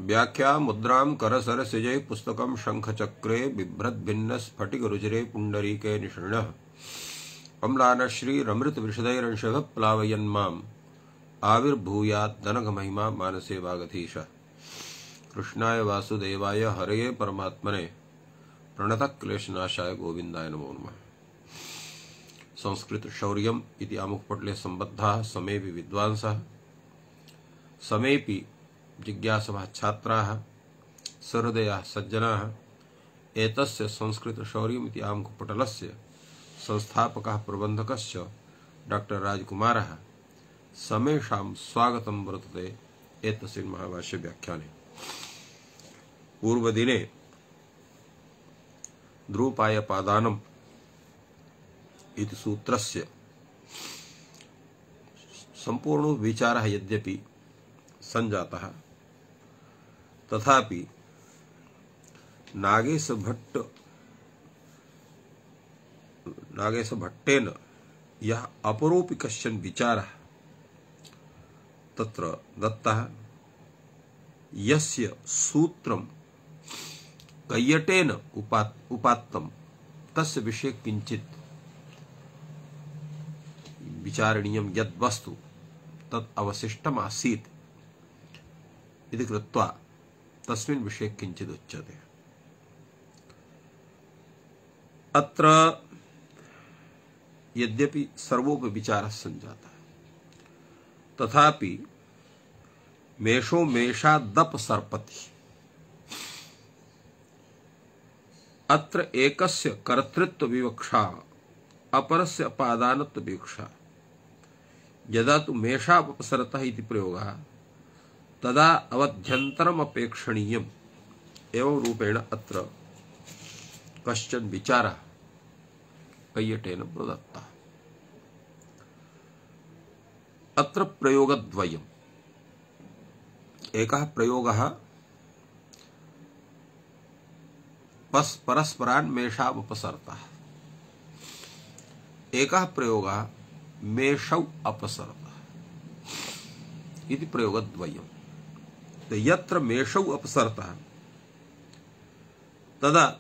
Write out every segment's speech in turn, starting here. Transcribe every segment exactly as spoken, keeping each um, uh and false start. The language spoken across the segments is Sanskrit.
व्याख्या मुद्रां करसरसिजै पुस्तकं शंखचक्रे बिभ्रद्भिन्न स्फटिकरुचिरे पुण्डरीके निषण्णः अम्लानश्रीरमृतविशदैरंशः प्लावयन्माम् आविर्भूयाद्दनघमहिमा मानसे वागधीशः। कृष्णाय वासुदेवाय हरये परमात्मने प्रणतक्लेशनाशाय गोविन्दाय नमो नमः। संस्कृत शौर्यम् इति आमुखपटले सम्बद्धाः समेऽपि विद्वांसः समेऽपि जिज्ञासवः छात्राः सहृदयाः सज्जनाः एतस्य संस्कृत शौर्यम् इति आमुखपटलस्य संस्थापकः प्रबन्धकश्च डॉक्टर राजकुमारः समेषां स्वागतं वर्तते एतस्मिन् महाभाष्य व्याख्याने। पूर्वदिने द्रुपायपादानम् इति सूत्रस्य सम्पूर्णो विचारः यद्यपि संजातः तथापि नागेश भट्ट नागेश भट्टेन यः अपरोपि कश्चन विचारः तत्र दत्तः यस्य सूत्रं कैयटेन उपात् उपात्तं तस्य विषये किंचित् विचारणीयं यद् वस्तु तत् अवशिष्टम् आसीत् इति कृत्वा तस्मिन् विषये किंचित् उच्यते। अत्र यद्यपि सर्वोपि विचारः संजातः तथापि मेषो मेषादप सर्पति अत्र एकस्य कर्तृत्व विवक्षा अपरस्य अपादानत्व विवक्षा। यदा तु मेषापसरतः इति प्रयोगः तदा अवध्यन्तरम् अपेक्षणीयम् एवं रूपेण अत्र कश्चन विचारः कैयटेन प्रदत्तः। अत्र प्रयोगद्वयम्। एकः प्रयोगः परस्परान् मेषावपसरतः, एकः प्रयोगः मेषौ अपसरतः इति प्रयोगद्वयम्। तो यत्र मेषौ अपसरतः तदा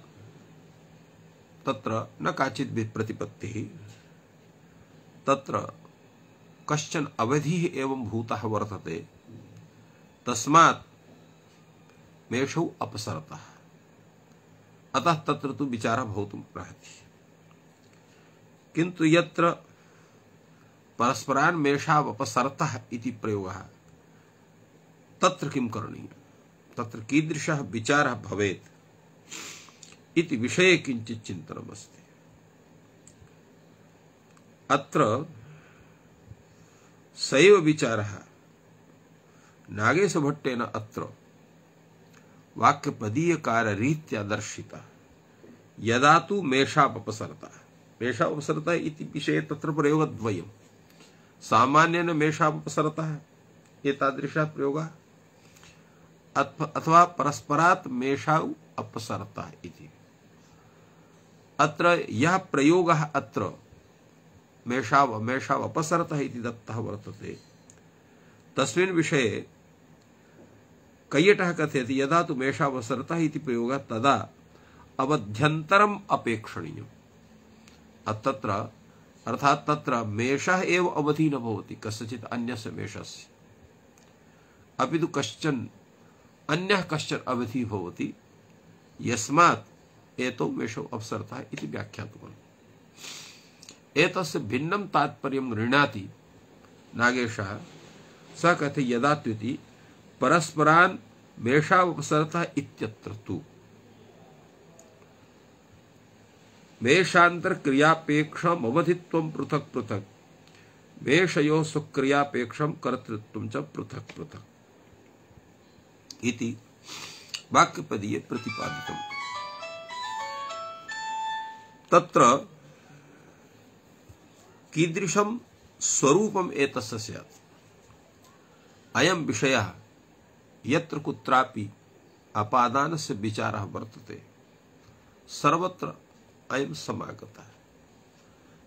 तत्र न काचित् प्रतिपत्तिः, तत्र कश्चन अवधिः एवं भूतः वर्तते, तस्मात् मेषौ अपसरतः। अतः तत्र तु विचारः भवितुम् अर्हति। किन्तु यत्र परस्परान् मेषावपसरतः इति प्रयोगः तत्र किं करणीयं, तत्र कीदृशः विचारः भवेत् इति विषये किञ्चित् चिन्तनमस्ति। अत्र सैव विचारः नागेशभट्टेन अत्र वाक्यपदीयकाररीत्या दर्शितः। यदा तु मेषावपसरतः, मेषावपसरतः इति विषये तत्र प्रयोगद्वयम्। सामान्येन मेषावपसरतः एतादृशः प्रयोगः अथवा परस्परात् मेषौ अपसरतः इति। अत्र यः प्रयोगः अत्र मेषाव मेषावपसरतः इति दत्तः वर्तते तस्मिन् विषये कैयटः कथयति यदा तु मेषावसरतः इति प्रयोगः तदा अवध्यन्तरम् अपेक्षणीयम्। तत्र अर्थात् तत्र मेषः एव अवधि न भवति कस्यचित् अन्यस्य मेषस्य, अपि तु कश्चन अन्यः कश्चन अवधि भवति यस्मात् एतौ मेषौ अपसरतः इति व्याख्यातुम्। एतस्य भिन्नं तात्पर्यं गृह्णाति नागेशः। सः कथयति यदा त्विति परस्परान् मेषावपसरतः इत्यत्र तु मेषान्तर क्रियापेक्षम् अवधित्वं पृथक् पृथक्, मेषयोः स्वक्रियापेक्षं कर्तृत्वं च पृथक् पृथक् इति वाक्यपदीये प्रतिपादितम्। तत्र कीदृशं स्वरूपम् एतस्य स्यात्, अयं विषयः यत्र कुत्रापि अपादानस्य विचारः वर्तते सर्वत्र अयं समागतः।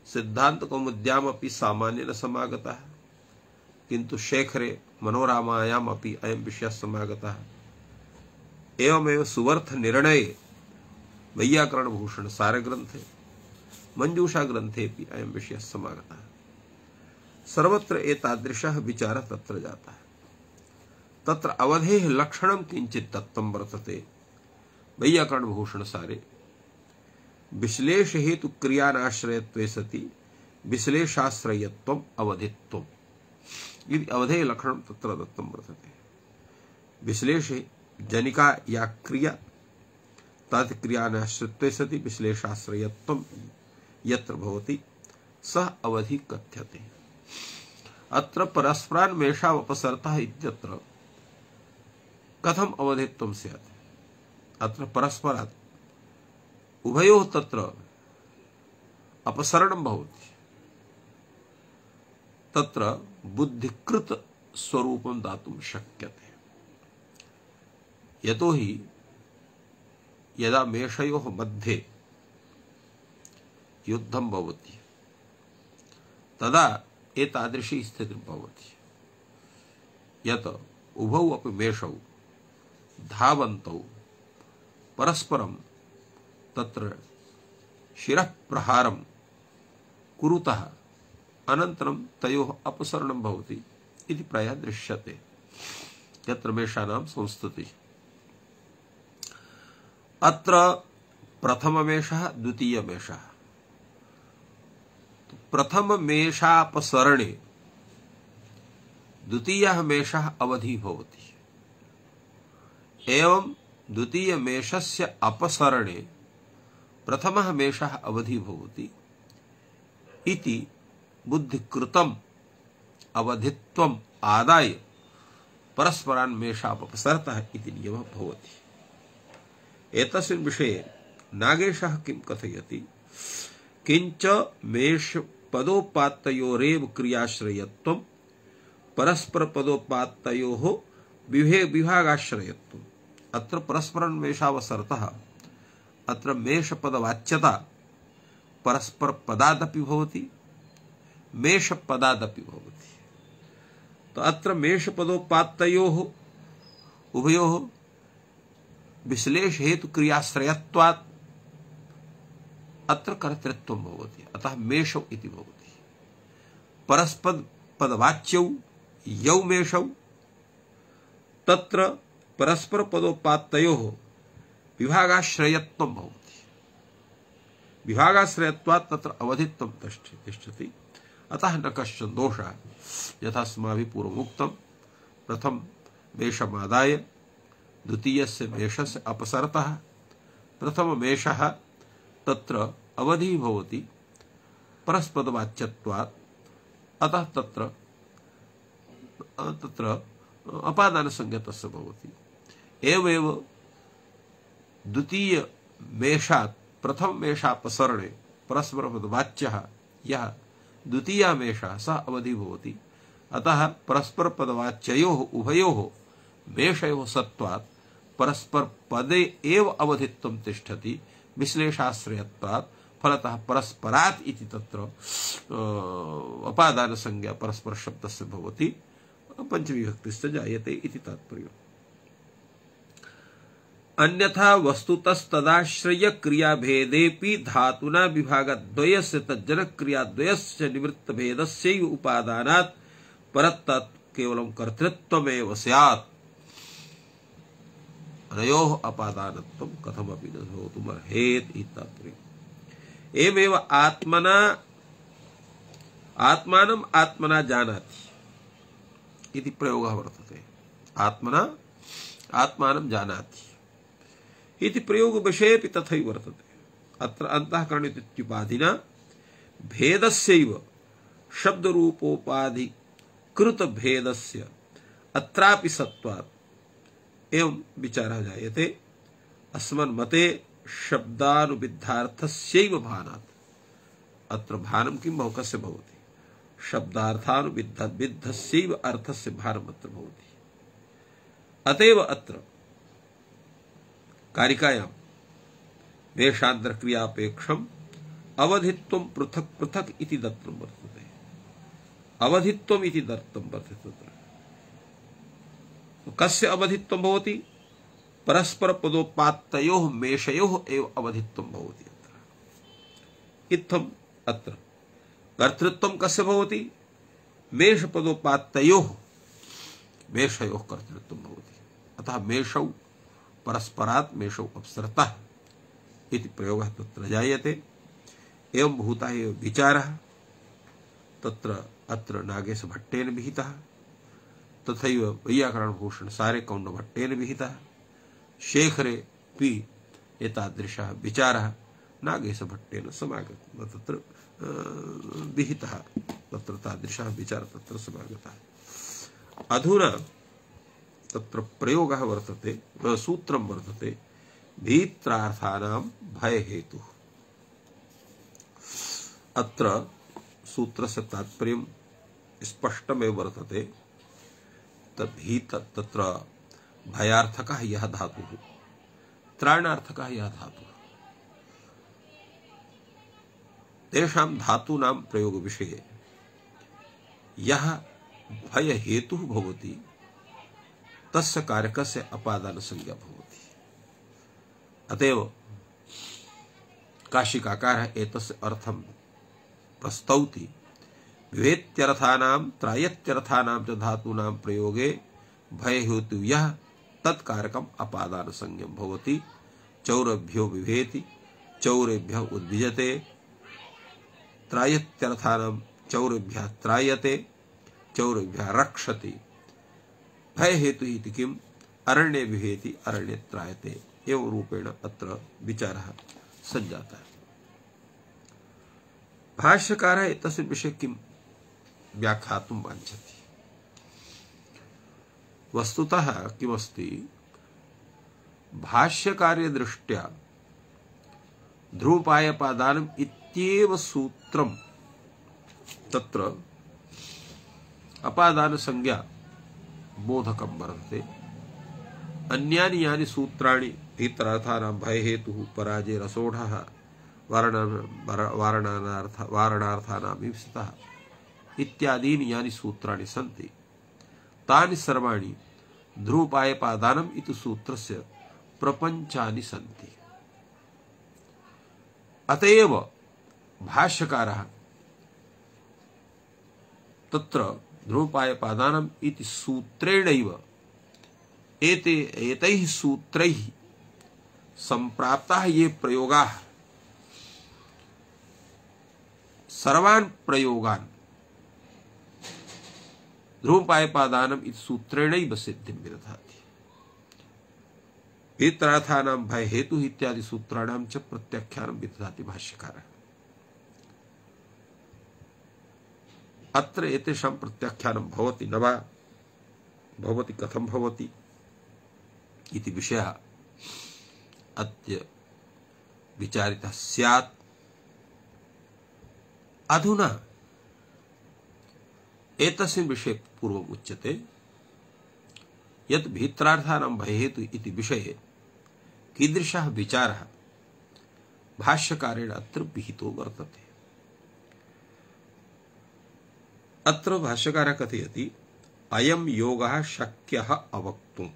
सिद्धान्तकौमुद्यामपि सामान्येन समागतः, किन्तु शेखरे मनोरामायामपि अयं विषयः समागतः। एवमेव सुवर्थ निर्णये वैयाकरण भूषण सार ग्रंथे मंजूषा ग्रंथेपि अयं विषयः समागतः। सर्वत्र एतादृशः विचारः तत्र जातः। तत्र अवधेः लक्षणं किञ्चित् दत्तं वर्तते वैयाकरण भूषण सारे। विश्लेष हेतु क्रियानाश्रयत्वे सति विश्लेषाश्रयत्वम् अवधित्वम् इति अवधेः लक्षणं तत्र दत्तं वर्तते। विश्लेषे जनिका या क्रिया तत् क्रियानाश्रित्वे सति विश्लेषाश्रयत्वं यत्र भवति सः अवधि कथ्यते। अत्र परस्परान्मेषावपसर्तः इत्यत्र कथम अवधित्वं स्यात्? अत्र परस्परात् उभयोः तत्र अपसरणं भवति। तत्र बुद्धिकृत स्वरूपं दातुं शक्यते। यतोहि यदा मेषयोः मध्ये युद्धं भवति तदा एतादृशी स्थितिः भवति यत् उभौ अपि मेषौ धावन्तौ परस्परं तत्र शिरः प्रहारं कुरुतः अनन्तरं तयोः अपसरणं भवति इति प्रायः दृश्यते यत्र मेषानां संस्तुतिः। अत्र प्रथममेषः द्वितीयमेषः। प्रथममेषापसरणे द्वितीयः मेषः अवधि भवति। एवं द्वितीयमेषस्य अपसरणे प्रथमः मेषः अवधि भवति इति बुद्धिकृतम् अवधित्वम् आदाय परस्परान् मेषापसरतः इति नियमः भवति। एतस्मिन् विषये नागेशः किं कथयति? किंच मेष पदोपात्तयोरेव क्रियाश्रयत्वं परस्पर पदोपात्तयोः विभागाश्रयत्वम्। अत्र परस्परान्मेषावसरतः अत्र मेषपदवाच्यता परस्पर पदादपि भवति मेषपदादपि भवति। तो अत्र मेषपदोपात्तयोः उभयोः विश्लेष हेतु क्रियाश्रयत्वात् अत्र कर्तृत्वं भवति। अतः मेषौ इति भवति। परस्पद पदवाच्यौ यौ मेषौ तत्र परस्पर पदोपात्तयोः विभागाश्रयत्वं भवति। विभागाश्रयत्वात् तत्र अवधित्वं तिष्ठति। अतः न कश्चन दोषः। यथा अस्माभिः पूर्वमुक्तं प्रथम मेषमादाय द्वितीयस्य मेषस्य अपसरतः प्रथम मेषः तत्र अवधि भवति परस्पदवाच्यत्वात्। अतः तत्र तत्र अपादानसंज्ञकस्य भवति। एवमेव द्वितीय मेषात् प्रथम मेषापसरणे परस्परपदवाच्यः यः द्वितीयः मेषः सः अवधि भवति। अतः परस्परपदवाच्ययोः उभयोः मेषयोः सत्वात् परस्पर पदे एव अवधित्वं तिष्ठति विश्लेषाश्रयत्वात्। फलतः परस्परात् इति तत्र अपादान संज्ञा परस्पर शब्दस्य भवति। पंचविभक्तिश्च जायते इति तात्पर्यम्। अन्यथा वस्तुतस्तदाश्रय क्रियाभेदेपि धातुना विभागद्वयस्य तज्जनक्रियाद्वयस्य निवृत्तभेदस्यैव उपादानात् परत्तत् केवलं कर्तृत्वमेव स्यात्। अनयोः अपादानत्वं कथमपि न भवितुमर्हेत् इति तात्पर्यम्। एवमेव आत्मना आत्मानम् आत्मना जानाति इति प्रयोगः वर्तते। आत्मना आत्मानं जानाति इति प्रयोग विषयेपि तथैव वर्तते। अत्र अन्तःकरणित्युपाधिना भेदस्यैव शब्दरूपोपाधि कृत भेदस्य अत्रापि सत्वात् एवं विचारः जायते। अस्मन्मते शब्दानुविद्धार्थस्यैव भानात्। अत्र भानं किं भव कस्य भवति? शब्दार्थानुविद्धस्यैव अर्थस्य भारम् अत्र भवति। अतएव अत्र कारिकायां वेषान्तरक्रियापेक्षम् अवधित्वं पृथक् पृथक् इति दत्तं वर्तते। अवधित्वम् इति दत्तं वर्तते। तत्र कस्य अवधित्वं भवति? परस्पर पदोत्पात्तयोः मेषयोः एव अवधित्वं भवति। अत्र इत्थम् अत्र कर्तृत्वं कस्य भवति? मेषपदोत्पात्तयोः मेषयोः कर्तृत्वं भवति। अतः मेषौ परस्परात् मेषौ अपसरतः इति प्रयोगः तत्र जायते। एवं भूतः एव विचारः तत्र अत्र नागेशभट्टेन विहितः, तथैव वैयाकरणभूषण सारे कौण्डभट्टेन विहितः। शेखरे पि एतादृशः विचारः नागेशभट्टेन समागतः, तत्र विहितः, तत्र तादृशः विचारः तत्र समागतः। अधुना तत्र प्रयोगः वर्तते, सूत्रं वर्तते भीत्रार्थानां भयहेतुः। अत्र सूत्रस्य तात्पर्यं स्पष्टमेव वर्तते। तद्भीत तत्र भयार्थकः यः धातुः, त्राणार्थकः यः धातुः, तेषां धातूनां प्रयोगविषये यः भयहेतुः भवति तस्य कारकस्य अपादानसंज्ञा भवति। अतएव काशिकाकारः एतस्य अर्थं प्रस्तौति। विभेत्यर्थानां त्रायत्यर्थानां च धातूनां प्रयोगे भयहेतु यः तत्कारकम् अपादानसंज्ञं भवति। चौरभ्यो विभेति, चौरेभ्यः उद्विजते, त्रायत्यर्थानां चौरेभ्यः त्रायते, चौरेभ्यः रक्षति। भयहेतु इति किम्? अरण्ये विभेति, अरण्ये त्रायते। एवं रूपेण अत्र विचारः सञ्जातः। भाष्यकारः एतस्मिन् विषये किं व्याख्यातुं वाञ्छति? वस्तुतः किमस्ति, भाष्यकार्यदृष्ट्या ध्रुवपायपादानम् इत्येव सूत्रं तत्र अपादानसंज्ञा बोधकं वर्तते। अन्यानि यानि सूत्राणि भीतरार्थानां भयहेतुः, पराजय, रसोढः, वारणानार्थ वारणार्थानां ईप्सितः इत्यादीनि यानि सूत्राणि सन्ति तानि सर्वाणि ध्रुवपायपादानम् इति सूत्रस्य प्रपञ्चानि सन्ति। अतएव भाष्यकारः तत्र ध्रुवपायपादानम् इति सूत्रेणैव एते एतैः सूत्रैः सम्प्राप्ताः ये प्रयोगाः सर्वान् प्रयोगान् ध्रुवपायपादानम् इति सूत्रेणैव सिद्धिं विदधाति। भीतरार्थानां भयहेतुः इत्यादि सूत्राणां च प्रत्याख्यानं विदधाति भाष्यकारः। अत्र एतेषां प्रत्याख्यानं भवति न वा भवति, कथं भवति इति विषयः अद्य विचारितः स्यात्। अधुना एतस्मिन् विषये पूर्वम् उच्यते यत् भीतरार्थानां भयहेतु इति विषये कीदृशः विचारः भाष्यकारेण अत्र विहितो वर्तते। अत्र भाष्यकारः कथयति अयं योगः शक्यः अवक्तुम्,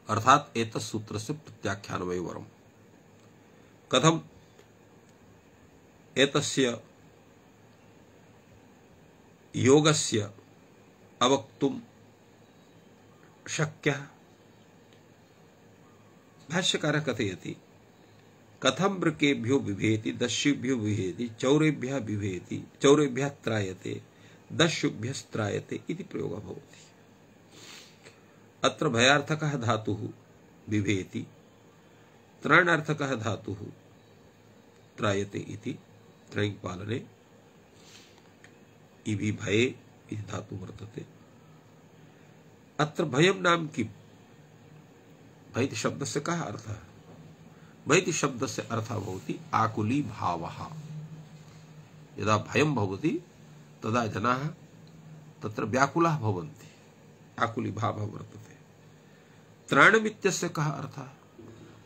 अर्थात् एतत् सूत्रस्य प्रत्याख्यानमेव वरम्। कथम् एतस्य योगस्य अवक्तुं शक्यः? भाष्यकारः कथयति कथं वृकेभ्यो बिभेति, दस्युभ्यो बिभेति, चौरेभ्यः बिभेति, चौरेभ्यः त्रायते, दस्युभ्यस्त्रायते इति प्रयोगः भवति। अत्र भयार्थकः धातुः बिभेति, त्रणार्थकः धातुः त्रायते इति त्रयीपालने इति भये इति धातु वर्तते। अत्र भयं नाम किम्? भयति शब्दस्य कः अर्थः? भयति शब्दस्य अर्थः भवति आकुली भावः। यदा भयं भवति तदा जनाः तत्र व्याकुलाः भवन्ति, आकुली भावः वर्तते। त्राणमित्यस्य कः अर्थः?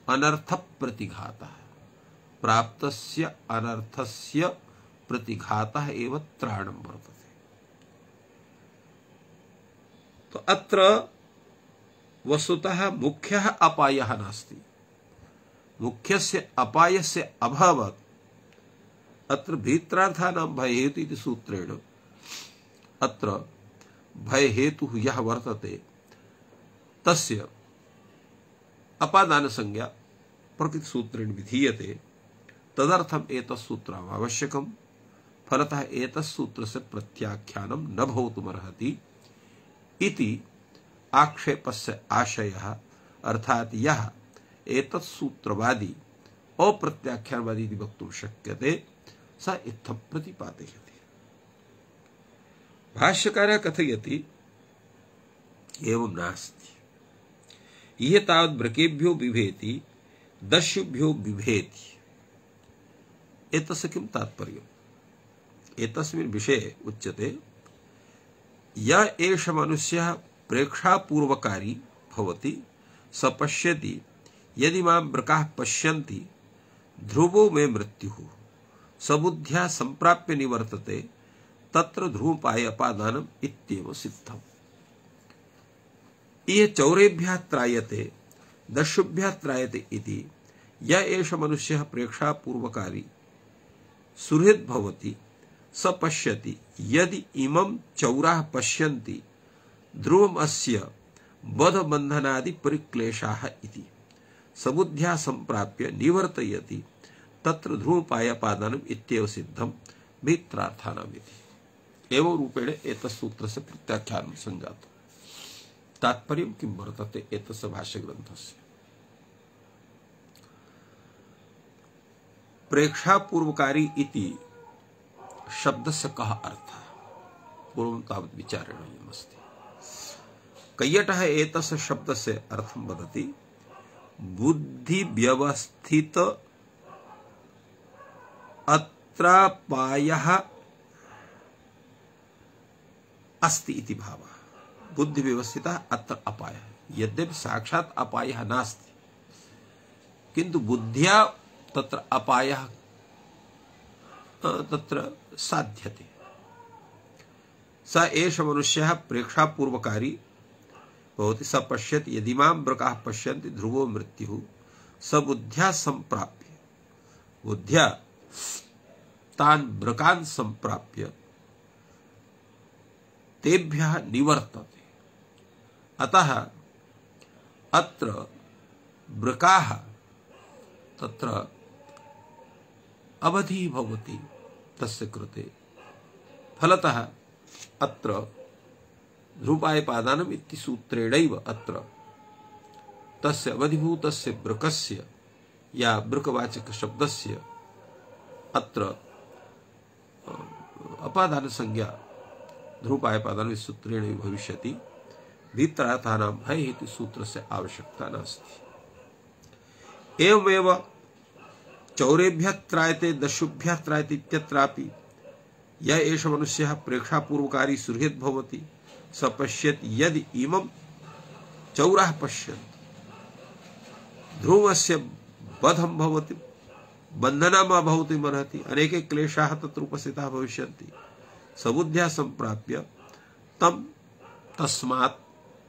अनर्थप्रतिघातः, प्राप्तस्य अनर्थस्य प्रतिघातः एव त्राणं वर्तते। तो अत्र वस्तुतः मुख्यः अपायः नास्ति। मुख्यस्य अपायस्य अभावात् अत्र भीत्रार्थानां भयहेतु इति सूत्रेण अत्र भयहेतुः यः वर्तते तस्य अपादानसंज्ञा प्रकृतिसूत्रेण विधीयते। तदर्थम् एतत् सूत्रम् आवश्यकम्। फलतः एतत् सूत्रस्य प्रत्याख्यानं न भवितुमर्हति इति आक्षेपस्य आशयः, अर्थात् यः एतत् सूत्रवादी अप्रत्याख्यानवादी इति वक्तुं शक्यते स इत्थं प्रतिपादयति। भाष्यकारः कथयति एवं नास्ति। यः तावत् वृकेभ्यो बिभेति दस्युभ्यो बिभेति। एतस्य किं तात्पर्यम्? एतस्मिन् विषये उच्यते यः एष मनुष्यः प्रेक्षापूर्वकारी भवति स पश्यति यदि मां वृकाः पश्यन्ति ध्रुवो मे मृत्युः सबुद्ध्या संप्राप्य निवर्तते तत्र ध्रुवोपाय अपादानम् इत्येव सिद्धम्। इह चौरेभ्यः त्रायते दस्युभ्यः त्रायते इति यः एष मनुष्यः प्रेक्षापूर्वकारी सुहृद् भवति स पश्यति यदि इमं चौराः पश्यन्ति ध्रुवम् अस्य बधबन्धनादि परिक्लेशाः इति सबुद्ध्या संप्राप्य निवर्तयति तत्र ध्रुवोपायपादानम् इत्येव सिद्धम् मित्रार्थानाम् इति। एवं रूपेण एतत् सूत्रस्य प्रत्याख्यानं सञ्जातम्। तात्पर्यं किं वर्तते एतस्य भाष्यग्रन्थस्य? प्रेक्षापूर्वकारी इति शब्दस्य कः अर्थः? पूर्वं तावत् विचारणीयमस्ति। कैयटः एतस्य शब्दस्य अर्थं वदति बुद्धिव्यवस्थित अत्रापायः अस्ति इति भावः। बुद्धिव्यवस्थितः अत्र अपायः। यद्यपि साक्षात् अपायः नास्ति किन्तु बुद्ध्या तत्र अपायः तत्र साध्यते। स एष मनुष्यः प्रेक्षापूर्वकारी भवति स पश्यति यदि मां वृकाः पश्यन्ति ध्रुवो मृत्युः स बुद्ध्या संप्राप्य बुद्ध्या तान् वृकान् संप्राप्य तेभ्यः निवर्तते। अतः अत्र वृकाः तत्र अवधि भवति तस्य कृते। फलतः अत्र ध्रुवोपायपादानम् इति सूत्रेणैव अत्र तस्य अवधिभूतस्य वृकस्य या वृकवाचक शब्दस्य अत्र अपादान संज्ञा ध्रुवोपायपादान सूत्रेण भविष्यति। भीत्रार्थानां भय हेतु सूत्रस्य आवश्यकता नास्ति। एवमेव चौरेभ्यः त्रायते दस्युभ्यः त्रायते इत्यत्रापि यः एष मनुष्यः प्रेक्षापूर्वकारी सुहृद् भवति स पश्यति यदि इमं चौराः पश्यन्ति ध्रुवस्य बधं भवति बन्धनं भवितुमर्हति अनेके क्लेशाः तत्र उपस्थिताः भविष्यन्ति सबुद्ध्या संप्राप्य तं तस्मात्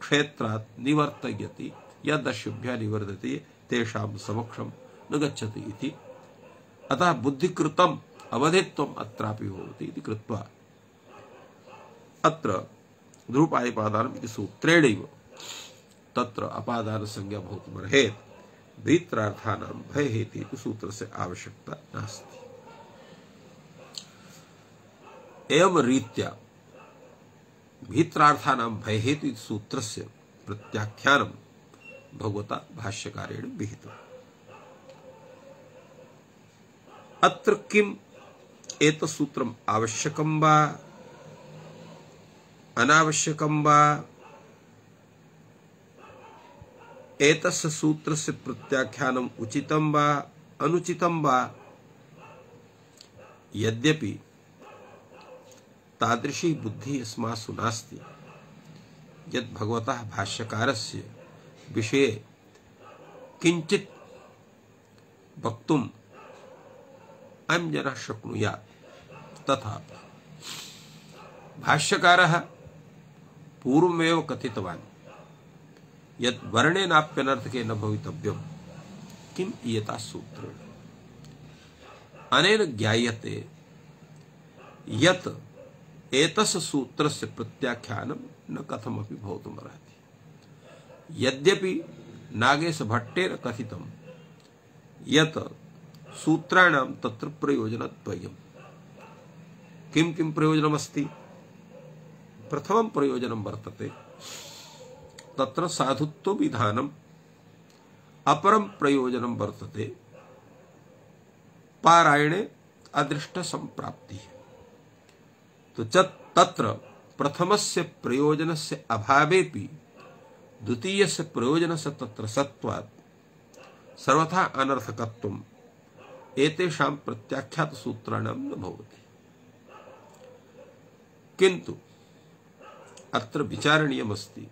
क्षेत्रात् निवर्तयति यद् दस्युभ्यः निवर्तते तेषां समक्षं न गच्छति इति। अतः बुद्धिकृतम् अवधित्वम् अत्रापि भवति इति कृत्वा अत्र ध्रुवोपायपादानम् इति सूत्रेणैव तत्र अपादान संज्ञा भवितुमर्हेत्। भीत्रार्थानां भयहेतु इति सूत्रस्य आवश्यकता नास्ति। एवं रीत्या भीत्रार्थानां भयहेतु इति सूत्रस्य प्रत्याख्यानं भगवता भाष्यकारेण विहितम्। अत्र किम एतत् सूत्रम् आवश्यकं वा अनावश्यकं वा एतस्य सूत्रस्य प्रत्याख्यानम् उचितं वा अनुचितं वा? यद्यपि तादृशी बुद्धि अस्मासु नास्ति यद् भगवतः भाष्यकारस्य विषये किंचित् वक्तुम् अयं जनः शक्नुयात्। तथा भाष्यकारः पूर्वमेव कथितवान् यत् वर्णेनाप्यनर्थके न भवितव्यम् किम् इयता सूत्रेण अनेन ज्ञायते यत् एतस्य सूत्रस्य प्रत्याख्यानं न कथमपि भवितुमर्हति। यद्यपि नागेशभट्टेन कथितं यत् सूत्राणां तत्र प्रयोजनद्वयम्। किं किं प्रयोजनमस्ति? प्रथमं प्रयोजनं वर्तते तत्र साधुत्व विधानम्, अपरं प्रयोजनं वर्तते पारायणे अदृष्ट संप्राप्ति। तो तत्र प्रथमस्य प्रयोजनस्य अभावेपि द्वितीयस्य प्रयोजनस्य तत्र सत्त्वात् सर्वथा अनर्थकत्वम् एतेषां प्रत्याख्यात सूत्राणां न भवति। किन्तु अत्र विचारणीयमस्ति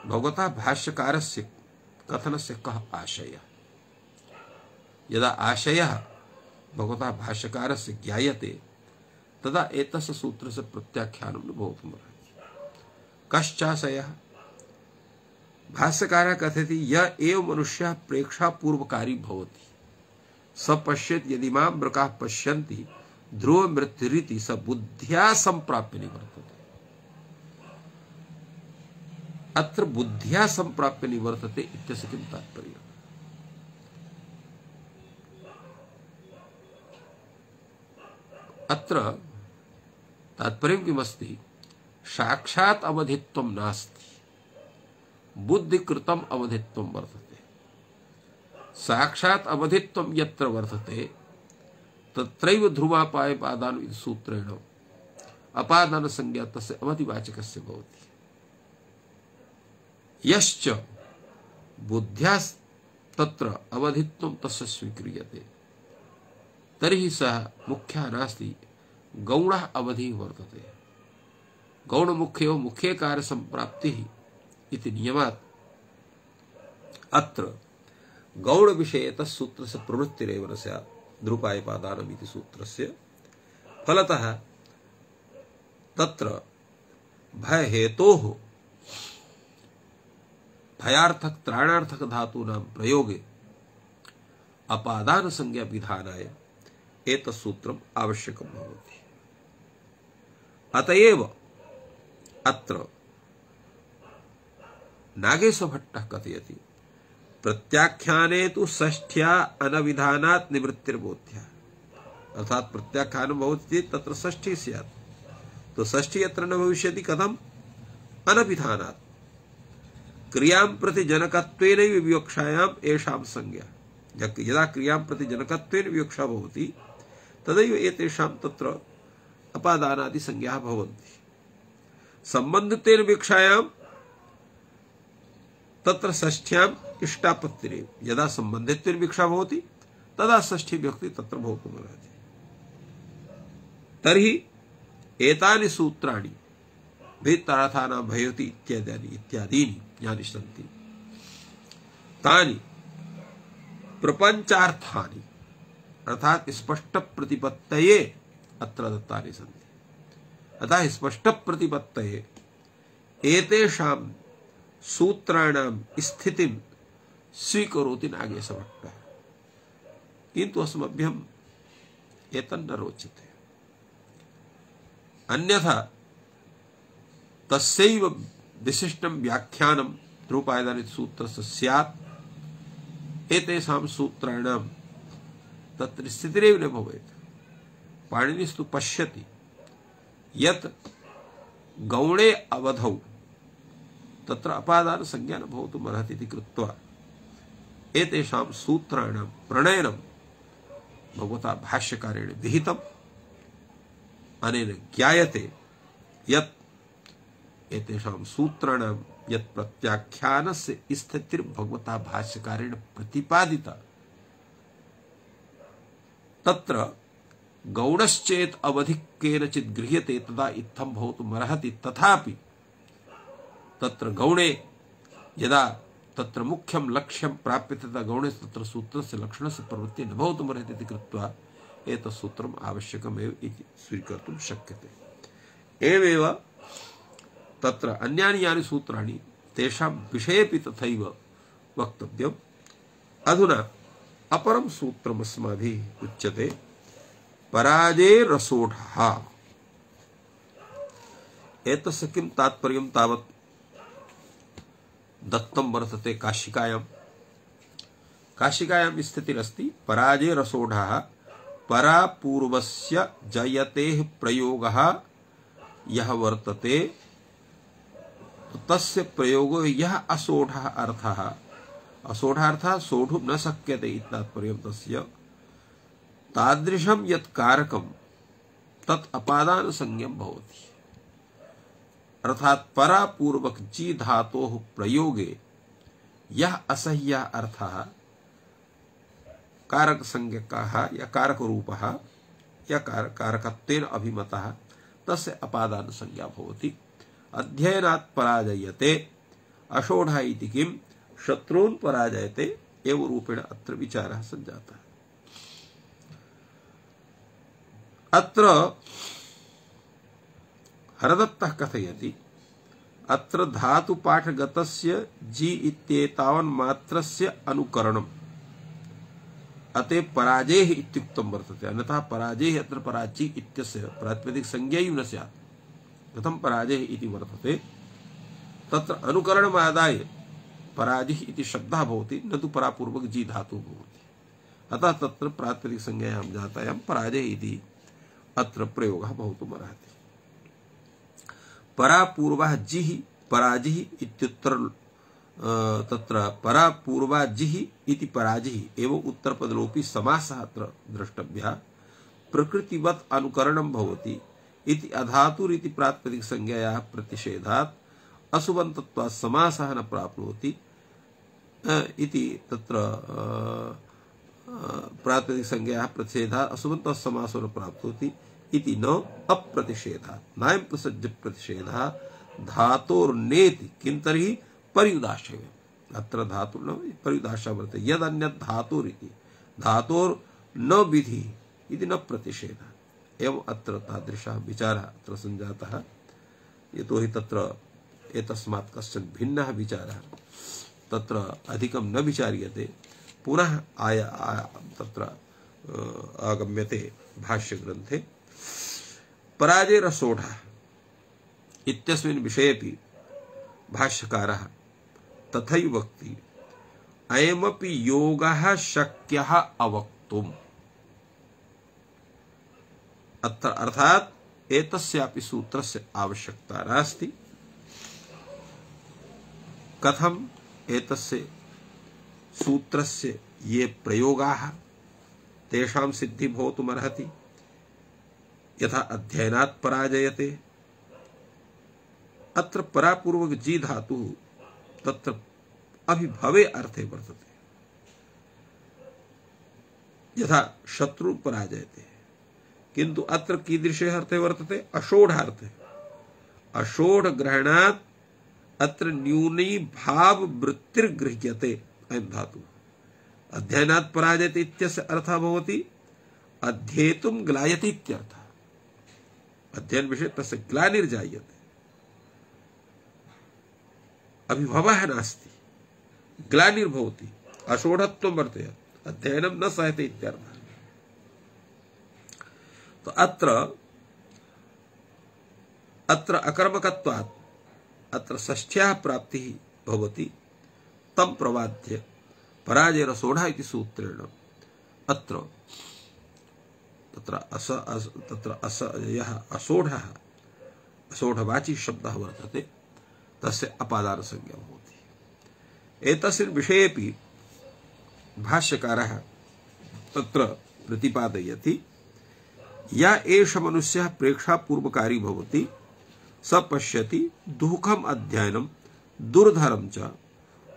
भगवता भाष्यकारस्य कथनस्य कः आशयः। यदा आशयः भगवता भाष्यकारस्य ज्ञायते तदा एतस्य सूत्रस्य प्रत्याख्यानं न भवितुमर्हति। कश्चाशयः? भाष्यकारः कथयति य एव मनुष्यः प्रेक्षापूर्वकारी भवति स पश्येत् यदि मां मृगाः पश्यन्ति ध्रुव मृत्युरिति स बुद्ध्या संप्राप्य निवर्तते। अत्र बुद्ध्या संप्राप्य निवर्तते इत्यस्य किं तात्पर्यम्? अत्र तात्पर्यं किमस्ति? साक्षात् अवधित्वं नास्ति, बुद्धिकृतम् अवधित्वं वर्तते। साक्षात् अवधित्वं यत्र वर्तते तत्रैव ध्रुवापायपादान इति सूत्रेण अपादान संज्ञा तस्य अवधिवाचकस्य भवति। यश्च बुद्ध्या तत्र अवधित्वं तस्य स्वीक्रियते तर्हि सः मुख्यः नास्ति, गौणः अवधिः वर्तते। गौणमुख्यो मुख्ये कार्य संप्राप्तिः इति नियमात् अत्र गौण विषये तत्सूत्रस्य प्रवृत्तिरेव न स्यात्। ध्रुपायपादानम् इति सूत्रस्य फलतः तत्र भयहेतोः भयार्थक त्राणार्थक धातूनां प्रयोगे अपादान संज्ञा विधानाय एतत् सूत्रम् आवश्यकं भवति। अतएव अत्र नागेशभट्टः कथयति प्रत्याख्याने तु षष्ठ्या अनविधानात् निवृत्तिर्बोध्या। अर्थात प्रत्याख्यानं भवति चेत् तत्र षष्ठी स्यात्। तो षष्ठी यत्र न भविष्यति कथम्? अनविधानात्। क्रियां प्रति जनकत्वेनैव विवक्षायाम् एषां संज्ञा। यदा क्रियां प्रति जनकत्वेन विवक्षा भवति तदैव एतेषां तत्र अपादानादि संज्ञाः भवन्ति। सम्बन्धितेन विवक्षायां तत्र षष्ठ्याम् इष्टापत्तिरेव। यदा सम्बन्धितेन विवक्षा भवति तदा षष्ठी विभक्ति तत्र भवितुमर्हति। तर्हि एतानि सूत्राणि भेदार्थानां भयति इत्यादीनि इत्यादीनि यानि सन्ति तानि प्रपञ्चार्थानि अर्थात स्पष्ट प्रतिपत्तये अत्र दत्तानि सन्ति। अतः स्पष्ट प्रतिपत्तये एतेषां सूत्राणां स्थितिं स्वीकरोति नागेशभट्टः। किन्तु अस्मभ्यम् एतन्न रोचते। अन्यथा तस्यैव विशिष्टं व्याख्यानं ध्रुपायदान सूत्रस्य स्यात्। एतेषां सूत्राणां तत्र स्थितिरेव न भवेत्। पाणिनिस्तु पश्यति यत् गौणे अवधौ तत्र अपादान संज्ञा न भवितुमर्हति इति कृत्वा एतेषां सूत्राणां प्रणयनं भगवता भाष्यकारेण विहितम्। अनेन ज्ञायते यत् एतेषां सूत्राणां यत् प्रत्याख्यानस्य स्थितिर्भगवता भाष्यकारेण प्रतिपादिता तत्र गौणश्चेत् अवधि केनचित् गृह्यते तदा इत्थं भवितुमर्हति। तथापि तत्र गौणे यदा तत्र मुख्यं लक्ष्यं प्राप्यते तदा गौणे तत्र सूत्रस्य लक्षणस्य प्रवृत्तिः न भवितुमर्हति इति कृत्वा एतत् सूत्रम् आवश्यकमेव इति स्वीकर्तुं शक्यते। एवमेव तत्र अन्यानि यानि सूत्राणि तेषां विषयेपि तथैव वक्तव्यम्। अधुना अपरं सूत्रम् अस्माभिः उच्यते पराजये रसोढः। एतस्य किं तात्पर्यं तावत् दत्तं वर्तते काशिकायां। काशिकायां स्थितिरस्ति पराजये रसोढः परापूर्वस्य जयतेः प्रयोगः यः वर्तते तस्य प्रयोगो यः असोढः अर्थः, असोढः अर्थः सोढुं न शक्यते इत्तात्पर्यं तस्य, तादृशं यत् कारकं तत् अपादानसंज्ञं भवति। अर्थात् परापूर्वक जी धातोः प्रयोगे यः असह्यः अर्थः कारक संज्ञकः या कारक रूपः या कारकत्वेन अभिमतः तस्य अपादान संज्ञा भवति। अध्ययनात् पराजयते अषोढः इति किं शत्रून् पराजयते एव रूपेण अत्र विचारः सञ्जातः। अत्र हरदत्तः कथयति अत्र धातुपाठगतस्य जी इत्येतावन्मात्रस्य अनुकरणम् अतः पराजयः इत्युक्तं वर्तते। अन्यथा पराजयः अत्र पराची इत्यस्य प्रातिपदिक संज्ञा न स्यात्। कथं पराजयः इति वर्तते तत्र अनुकरणमादाय पराजयः इति शब्दः भवति, न तु परापूर्वक जी धातुः भवति। अतः तत्र प्रातिपदिक संज्ञायां जातायां पराजयः इति अत्र प्रयोगः भवितुमर्हति। परापूर्वः जिः पराजिः इत्युत्तर तत्र परापूर्वाजिः इति पराजिः एवं उत्तरपदलोपी समासः अत्र द्रष्टव्यः। प्रकृतिवत् अनुकरणं भवति इति अधातुरिति प्रातिपदिक संज्ञायाः प्रतिषेधात् असुबन्तत्वात् समासः न प्राप्नोति इति तत्र प्रातिपदिक संज्ञायाः प्रतिषेधात् असुबन्तत्वात् समासो न प्राप्नोति इति न अप्रतिषेधात्। नायं प्रसज्य प्रतिषेधः धातोर्नेति किं तर्हि पर्युदाशव्यम्। अत्र धातु न पर्युदाशः वर्तते। यद् अन्यत् धातुरिति धातोर् न विधिः इति न प्रतिषेधः। एवं अत्र तादृशः विचारः अत्र सञ्जातः। यतोहि तत्र एतस्मात् कश्चन भिन्नः विचारः तत्र अधिकं न विचार्यते, पुनः आय तत्र आगम्यते भाष्यग्रन्थे। पराजय रसोढः इत्यस्मिन् विषयेपि भाष्यकारः तथैव वक्ति अयमपि योगः शक्यः अवक्तुम्। अत्र अर्थात् एतस्यापि सूत्रस्य आवश्यकता नास्ति। कथम् एतस्य सूत्रस्य ये प्रयोगाः तेषां सिद्धि भवितुमर्हति। यथा अध्ययनात् पराजयते, अत्र परापूर्वक जी धातुः तत्र अभिभवे अर्थे वर्तते। यथा शत्रु पराजयते, किंतु अत्र कीदृशे अर्थे वर्तते अषोढार्थे। अषोढ ग्रहणात् अत्र न्यूनी भाव वृत्तिर्गृह्यते अयं धातुः। अध्ययनात् पराजयते इत्यस्य अर्थः भवति अध्येतुं ग्लायते इत्यर्थः। अध्ययन विषये तस्य ग्लानिर्जायते, अभिभवः नास्ति, ग्लानिर्भवति, अषोढत्वं वर्तते, अध्ययनं न सहते इत्यर्थः। तो अत्र अत्र अकर्मकत्वात् अत्र षष्ठ्याः प्राप्तिः भवति। तं प्रवाद्य पराजय रसोढः इति सूत्रेण अत्र तत्र अस, अस तत्र अस यः असोढः असोढवाची शब्दः वर्तते तस्य अपादान संज्ञा भवति। एतस्मिन् विषयेपि भाष्यकारः तत्र प्रतिपादयति या एष मनुष्यः प्रेक्षापूर्वकारी भवति स पश्यति दुःखम् अध्ययनं दुर्धरं च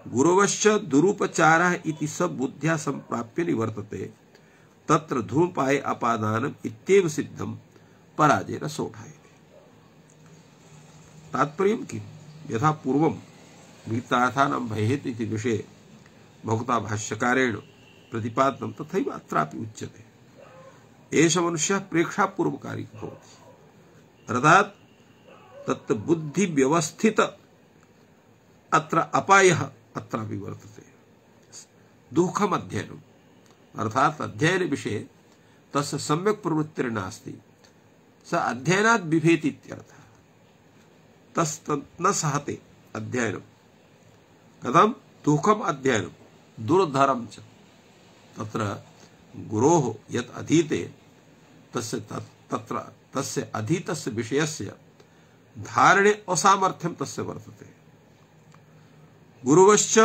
गुरवश्च दुरुपचारः इति स बुद्ध्या संप्राप्य निवर्तते तत्र धूमपाये अपादानम् इत्येव सिद्धं पराजय रसोढः। तात्पर्यं किम्? यथा पूर्वं गीतार्थानां भयेत् इति विषये भगवता भाष्यकारेण प्रतिपादितं तथैव अत्रापि उच्यते। एष मनुष्यः प्रेक्षापूर्वकारी भवति, अर्थात् तत् बुद्धि व्यवस्थित अत्र अपायः अत्रापि वर्तते। दुःखम् अध्ययनम् अर्थात् अध्ययन विषये तस्य सम्यक् प्रवृत्तिर्नास्ति, स अध्ययनात् बिभेति इत्यर्थः। तस् न सहते अध्ययनं। कथं? दुःखम् अध्ययनं दुर्धरं च। तत्र गुरोः यत् अधीते तस्य तत्र तस्य अधीतस्य विषयस्य धारणे असामर्थ्यं तस्य वर्तते। गुरुवश्च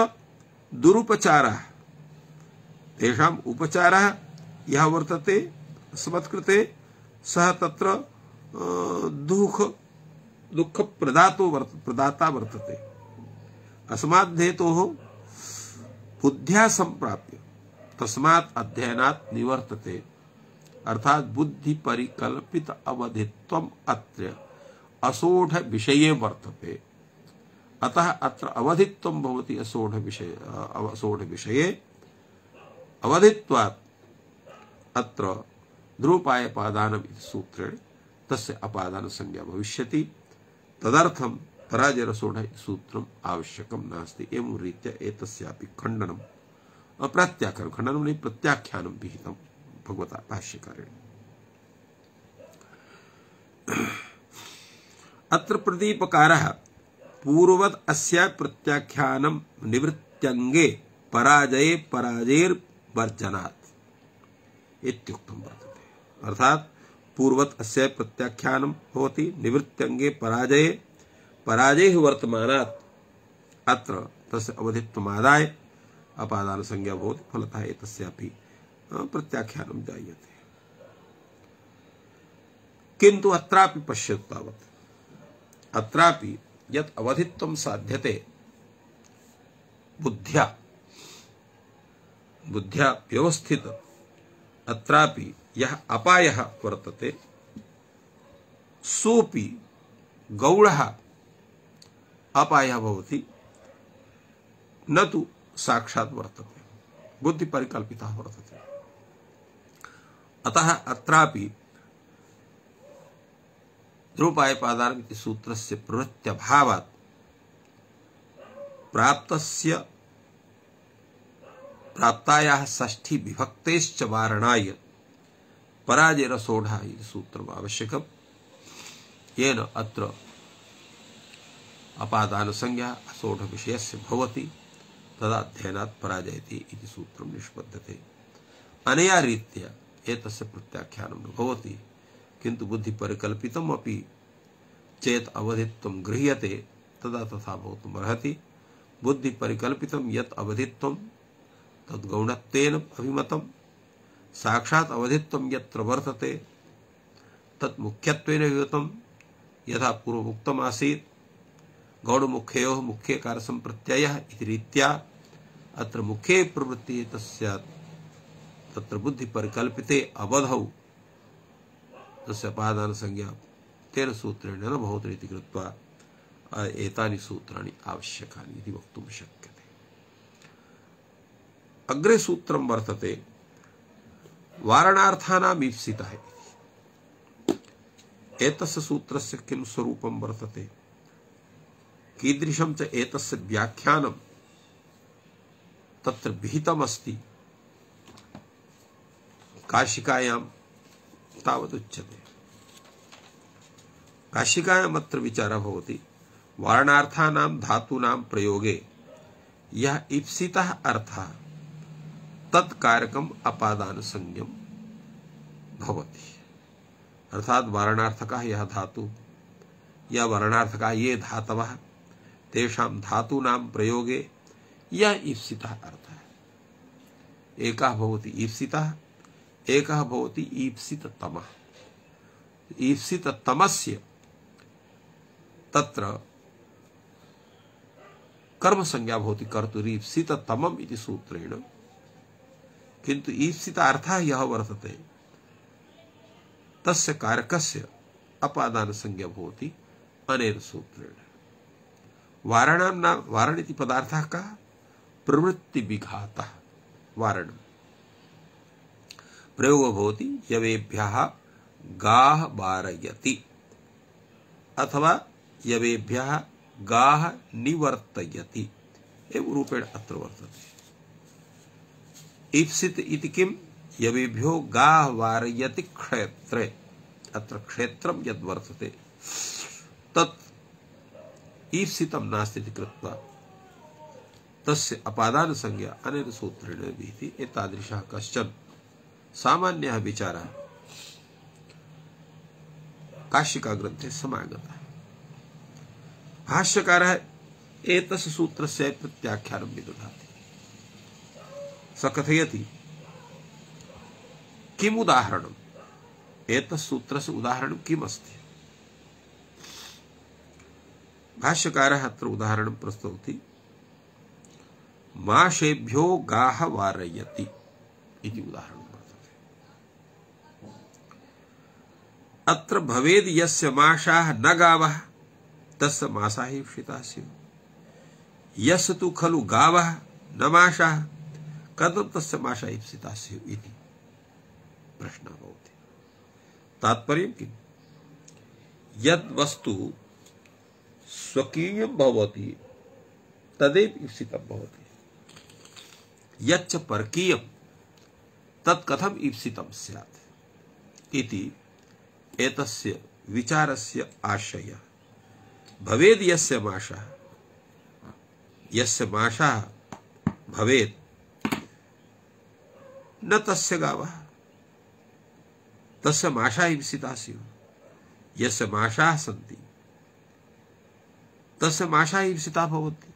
दुरुपचारः, तेषाम् उपचारः यः वर्तते अस्मत्कृते सः तत्र दुःख दुःखप्रदातो वर्त प्रदाता वर्तते। अस्मात् हेतोः बुद्ध्या सम्प्राप्य तस्मात् अध्ययनात् निवर्तते। अर्थात बुद्धि परिकल्पित अवधित्वम् अत्र असोढ विषये वर्तते। अतः अत्र अवधित्वं भवति असोढ विषय असोढ विषये। अवधित्वात् अत्र ध्रुवोपायपादानम् इति सूत्रेण तस्य अपादान संज्ञा भविष्यति। तदर्थं पराजयरसोढ इति सूत्रम् आवश्यकं नास्ति। एवं रीत्या एतस्यापि खण्डनम् अप्रत्याख्यानं खण्डनं नहीं प्रत्याख्यानं विहितं भगवता भाष्यकारेण। अत्र प्रदीपकारः पूर्ववत् अस्या प्रत्याख्यानं निवृत्त्यङ्गे पराजये पराजयेर्वर्जनात् इत्युक्तं वर्तते। अर्थात् पूर्ववत् अस्या प्रत्याख्यानं भवति निवृत्त्यङ्गे पराजये पराजयः वर्तमानात् अत्र तस्य अवधित्वमादाय अपादान संज्ञा भवति। फलतः एतस्यापि प्रत्याख्यानं जायते। किन्तु अत्रापि पश्यतु तावत् अत्रापि यत् अवधित्वं साध्यते बुद्ध्या बुद्ध्या व्यवस्थित अत्रापि यः अपायः वर्तते सोऽपि गौणः अपायः भवति, न तु साक्षात् वर्तते, बुद्धि परिकल्पितः वर्तते। अतः अत्रापि ध्रुवोपायपादानम् इति सूत्रस्य प्रवृत्त्यभावात् प्राप्तस्य प्राप्तायाः षष्ठी विभक्तेश्च वारणाय पराजयरसोढः इति सूत्रम् आवश्यकम्। येन अत्र अपादान संज्ञा असोढ विषयस्य भवति, तदा अध्ययनात् पराजयति इति सूत्रं निष्पद्यते। अनया रीत्या एतस्य प्रत्याख्यानं न भवति। किन्तु बुद्धि परिकल्पितम् अपि चेत् अवधित्वं गृह्यते तदा तथा भवितुम् अर्हति। बुद्धि परिकल्पितं यत् अवधित्वं तद् गौणत्वेन अभिमतं, साक्षात् अवधित्वं यत्र वर्तते तत् मुख्यत्वेन अभिमतं। यथा पूर्वमुक्तम् आसीत् गौणमुख्ययोः मुख्यकारसम्प्रत्ययः इति रीत्या अत्र मुख्ये प्रवृत्तिः तस्यात् तत्र बुद्धि परिकल्पिते अवधौ तस्य अपादान संज्ञा तेन सूत्रेण न भवति इति कृत्वा एतानि सूत्राणि आवश्यकानि इति वक्तुं शक्यते। अग्रे सूत्रं वर्तते वारणार्थानाम् ईप्सितः इति। एतस्य सूत्रस्य किं स्वरूपं वर्तते, कीदृशं च एतस्य व्याख्यानं तत्र विहितमस्ति काशिकायां तावदुच्यते। काशिकायाम् अत्र विचारः भवति वारणार्थानां धातूनां प्रयोगे यः ईप्सितः अर्थः तत्कारकम् अपादान संज्ञं भवति। अर्थात् वारणार्थकः यः धातु या वारणार्थकः ये धातवः तेषां धातूनां प्रयोगे यः ईप्सितः अर्थः, एकः भवति ईप्सितः, एकः भवति ईप्सिततमः। ईप्सिततमस्य तत्र कर्म संज्ञा भवति कर्तुरीप्सिततमम् इति सूत्रेण। किन्तु ईप्सित अर्थः यः वर्तते तस्य कारकस्य अपादान संज्ञा भवति अनेन सूत्रेण। वारणां नाम वारण इति पदार्थः कः, प्रवृत्ति विघातः वारणम्। प्रयोगो भवति यवेभ्यः गाः वारयति अथवा यवेभ्यः गाः निवर्तयति एवं रूपेण अत्र वर्तते। ईप्सित इति किं? यवेभ्यो गाः वारयति क्षेत्रे, अत्र क्षेत्रं यद् वर्तते तत् ईप्सितं नास्ति इति कृत्वा तस्य अपादान संज्ञा अनेन सूत्रेण विहिति। एतादृशः कश्चन सामान्यः विचारः काशिका ग्रन्थे समागतः। भाष्यकारः एतस्य सूत्रस्य प्रत्याख्यानं विदधाति। स कथयति किम् उदाहरणम्, एतस्य सूत्रस्य उदाहरणं किम् अस्ति। भाष्यकारः अत्र उदाहरणं प्रस्तौति। माशेभ्यो गाः वारयति इति उदाहरणं वर्तते। अत्र भवेद् यस्य माशाः न गावः तस्य मासाः ईप्सिताः स्युः। यस्य तु खलु गावः न माशाः कथं तस्य माशाः ईप्सिताः स्युः इति प्रश्नः भवति। तात्पर्यं किम्? यद् वस्तु स्वकीयं भवति तदेव ईप्सितं भवति, यच्च परकीयं तत् कथम् ईप्सितं स्यात् इति एतस्य विचारस्य आशयः। भवेद् यस्य माशः, यस्य माशः भवेत् न तस्य गावः तस्य माशाः ईप्सिताः स्युः। यस्य माशाः सन्ति तस्य माशाः ईप्सिताः भवन्ति।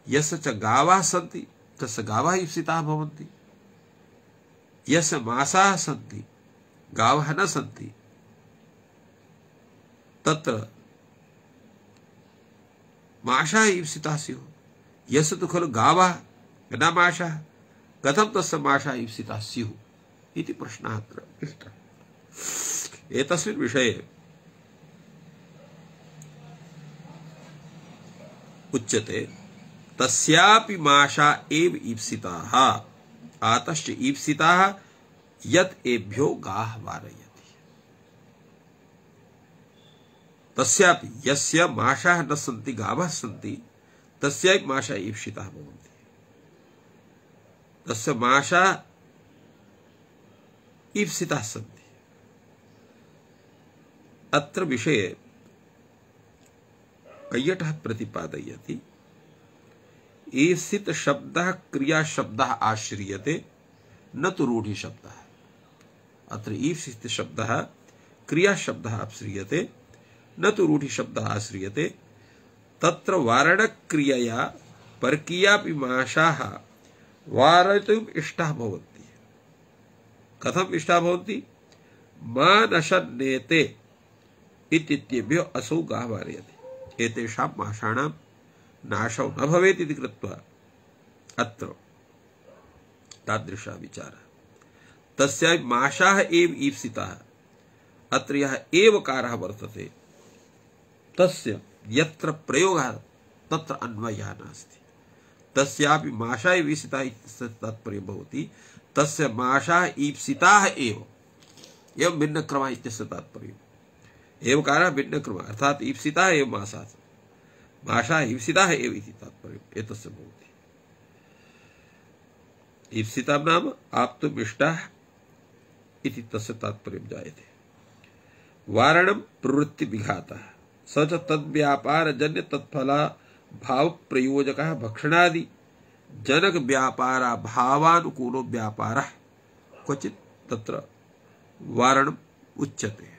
यस्य च गावः सन्ति तस्य गावः ईप्सिताः भवन्ति। यस्य मासाः सन्ति गावः न सन्ति तत्र माशाः ईप्सिताः स्युः। यस्य तु खलु गावः न माशाः कथं तस्य माशाः ईप्सिताः स्युः इति प्रश्नः अत्र पृष्टः। एतस्मिन् विषये उच्यते तस्यापि माशा एव ईप्सिताः आतश्च ईप्सिताः यत् एभ्यो गाः वारयति। तस्यापि यस्य माशाः न सन्ति गावः सन्ति तस्यापि माशाः ईप्सिताः भवन्ति। तस्य माशाः ईप्सिताः सन्ति। अत्र विषये कैयटः प्रतिपादयति ईप्सित शब्दः क्रिया शब्दः आश्रियते न तु रूढ़ि शब्दः। अत्र ईप्सित शब्दः क्रिया शब्दः आश्रियते न तु रूढ़ि शब्दः आश्रियते। तत्र वारण क्रियया परकीयापि माशाः वारयितुम् इष्टाः भवन्ति। कथम् इष्टाः भवन्ति? मा नशन्नेते इत्येतेभ्यो असौ गाः वारयति। एतेषां माशानां नाशौ न भवेत् इति कृत्वा अत्र तादृशः विचारः। तस्यापि माशाः एव ईप्सिताः। अत्र यः एवकारः वर्तते तस्य यत्र प्रयोगः तत्र अन्वयः नास्ति। तस्यापि माशाः एव ईप्सिताः इत्यस्य तात्पर्यं भवति तस्य माशाः ईप्सिताः एव। एवं भिन्नक्रमः इत्यस्य तात्पर्यम्। एवकारः भिन्नक्रमः अर्थात् ईप्सिताः एव मासाः माशाः ईप्सिताः एव इति तात्पर्यम् एतस्य भवति। ईप्सितां नाम आप्तुम् इष्टाः इति तस्य तात्पर्यं जायते। वारणं प्रवृत्ति विघातः स च तद्व्यापारजन्य तत्फला भाव प्रयोजकः भक्षणादि जनक व्यापारा भावानुकूलो व्यापारः क्वचित् तत्र वारणम् उच्यते।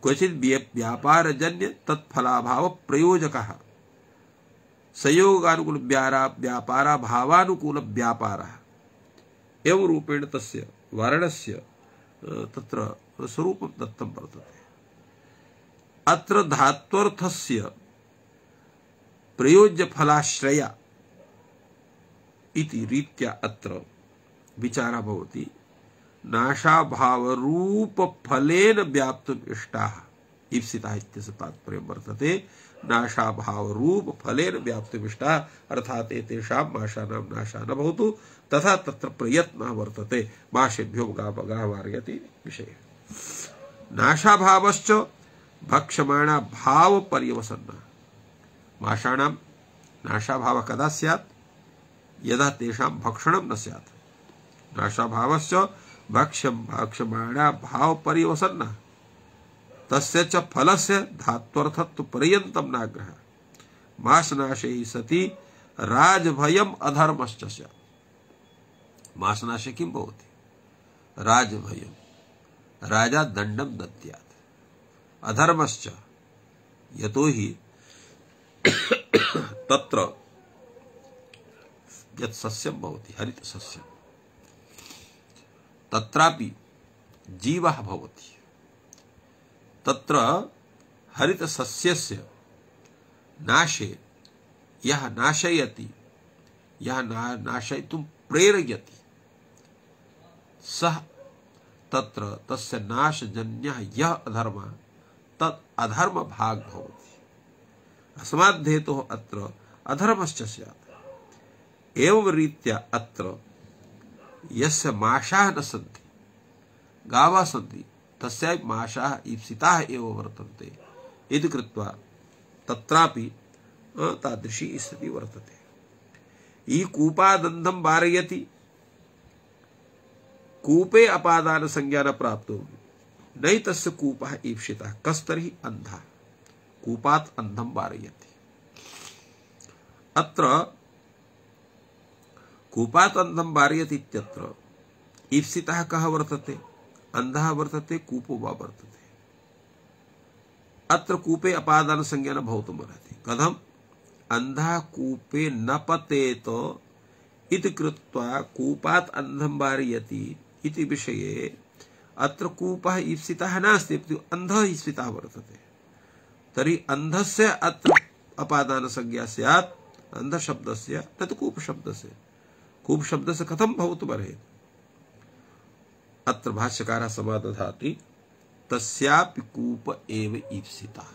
क्वचित् व्यापारजन्य तत्फलाभाव प्रयोजकः संयोगानुकूल व्यापारा भावानुकूल व्यापारः एवं रूपेण तस्य वारणस्य तत्र स्वरूपं दत्तं वर्तते। अत्र धात्वर्थस्य प्रयोज्य फलाश्रय इति रीत्या अत्र विचारः भवति। नाशाभावरूप फलेन व्याप्तुम् इष्टाः ईप्सिताः इत्यस्य तात्पर्यं वर्तते। नाशाभावरूप फलेन व्याप्तुम् इष्टाः अर्थात् एतेषां माशानां नाशः न भवतु तथा तत्र प्रयत्नः वर्तते माशेभ्यो गाः वारयति विषये। नाशाभावश्च भक्ष्यमाणा भाव पर्यवसन्नः माषाणां नाशाभावः कदा स्यात्? यदा तेषां भक्षणं न स्यात्। नाशाभावस्य भक्ष्यं भक्ष्यमाणा भावपर्यवसन्नः तस्य च फलस्य धात्वर्थत्वपर्यन्तं नाग्रहः। मासनाशे सति राजभयम् अधर्मश्च स्यात्। मासनाशे किं भवति? राजभयम्, राजा दण्डं दद्यात्। अधर्मश्च यतोहि तत्र यत् सस्यं भवति हरितसस्यं तत्रापि जीवः भवति। तत्र हरितसस्यस्य नाशे यः नाशयति, यः ना नाशयितुं प्रेरयति, सः तत्र तस्य नाशजन्यः यः अधर्मः तत् अधर्मभाग् भवति। अस्मात् हेतोः अत्र अधर्मश्च स्यात्। एवं रीत्या अत्र यस्य माषाः न सन्ति, गावः सन्ति, तस्यापि माषाः ईप्सिताः एव वर्तन्ते इति कृत्वा तत्रापि तादृशी स्थितिः वर्तते। ई कूपादन्धं वारयति, कूपे अपादान संज्ञा न प्राप्तो नहि तस्य कूपः ईप्सितः कस्तर्हि अन्धः कूपात् अन्धं वारयति। अत्र कूपात् अन्धं वारयति इत्यत्र ईप्सितः कः वर्तते? अन्धः वर्तते, कूपो वा वर्तते। अत्र कूपे अपादान संज्ञा न भवितुमर्हति। कथम्? अन्धः कूपे न पतेत इति कृत्वा कूपात् अन्धं वारयति इति विषये अत्र कूपः ईप्सितः नास्ति, अपितु अन्धः ईप्सितः वर्तते। तर्हि अन्धस्य अत्र अपादान संज्ञा स्यात् अन्धशब्दस्य, न तु कूपशब्दस्य। कूपशब्दस्य कथं भवितुमर्हति? अत्र भाष्यकारः समादधाति तस्यापि कूप एव ईप्सितः।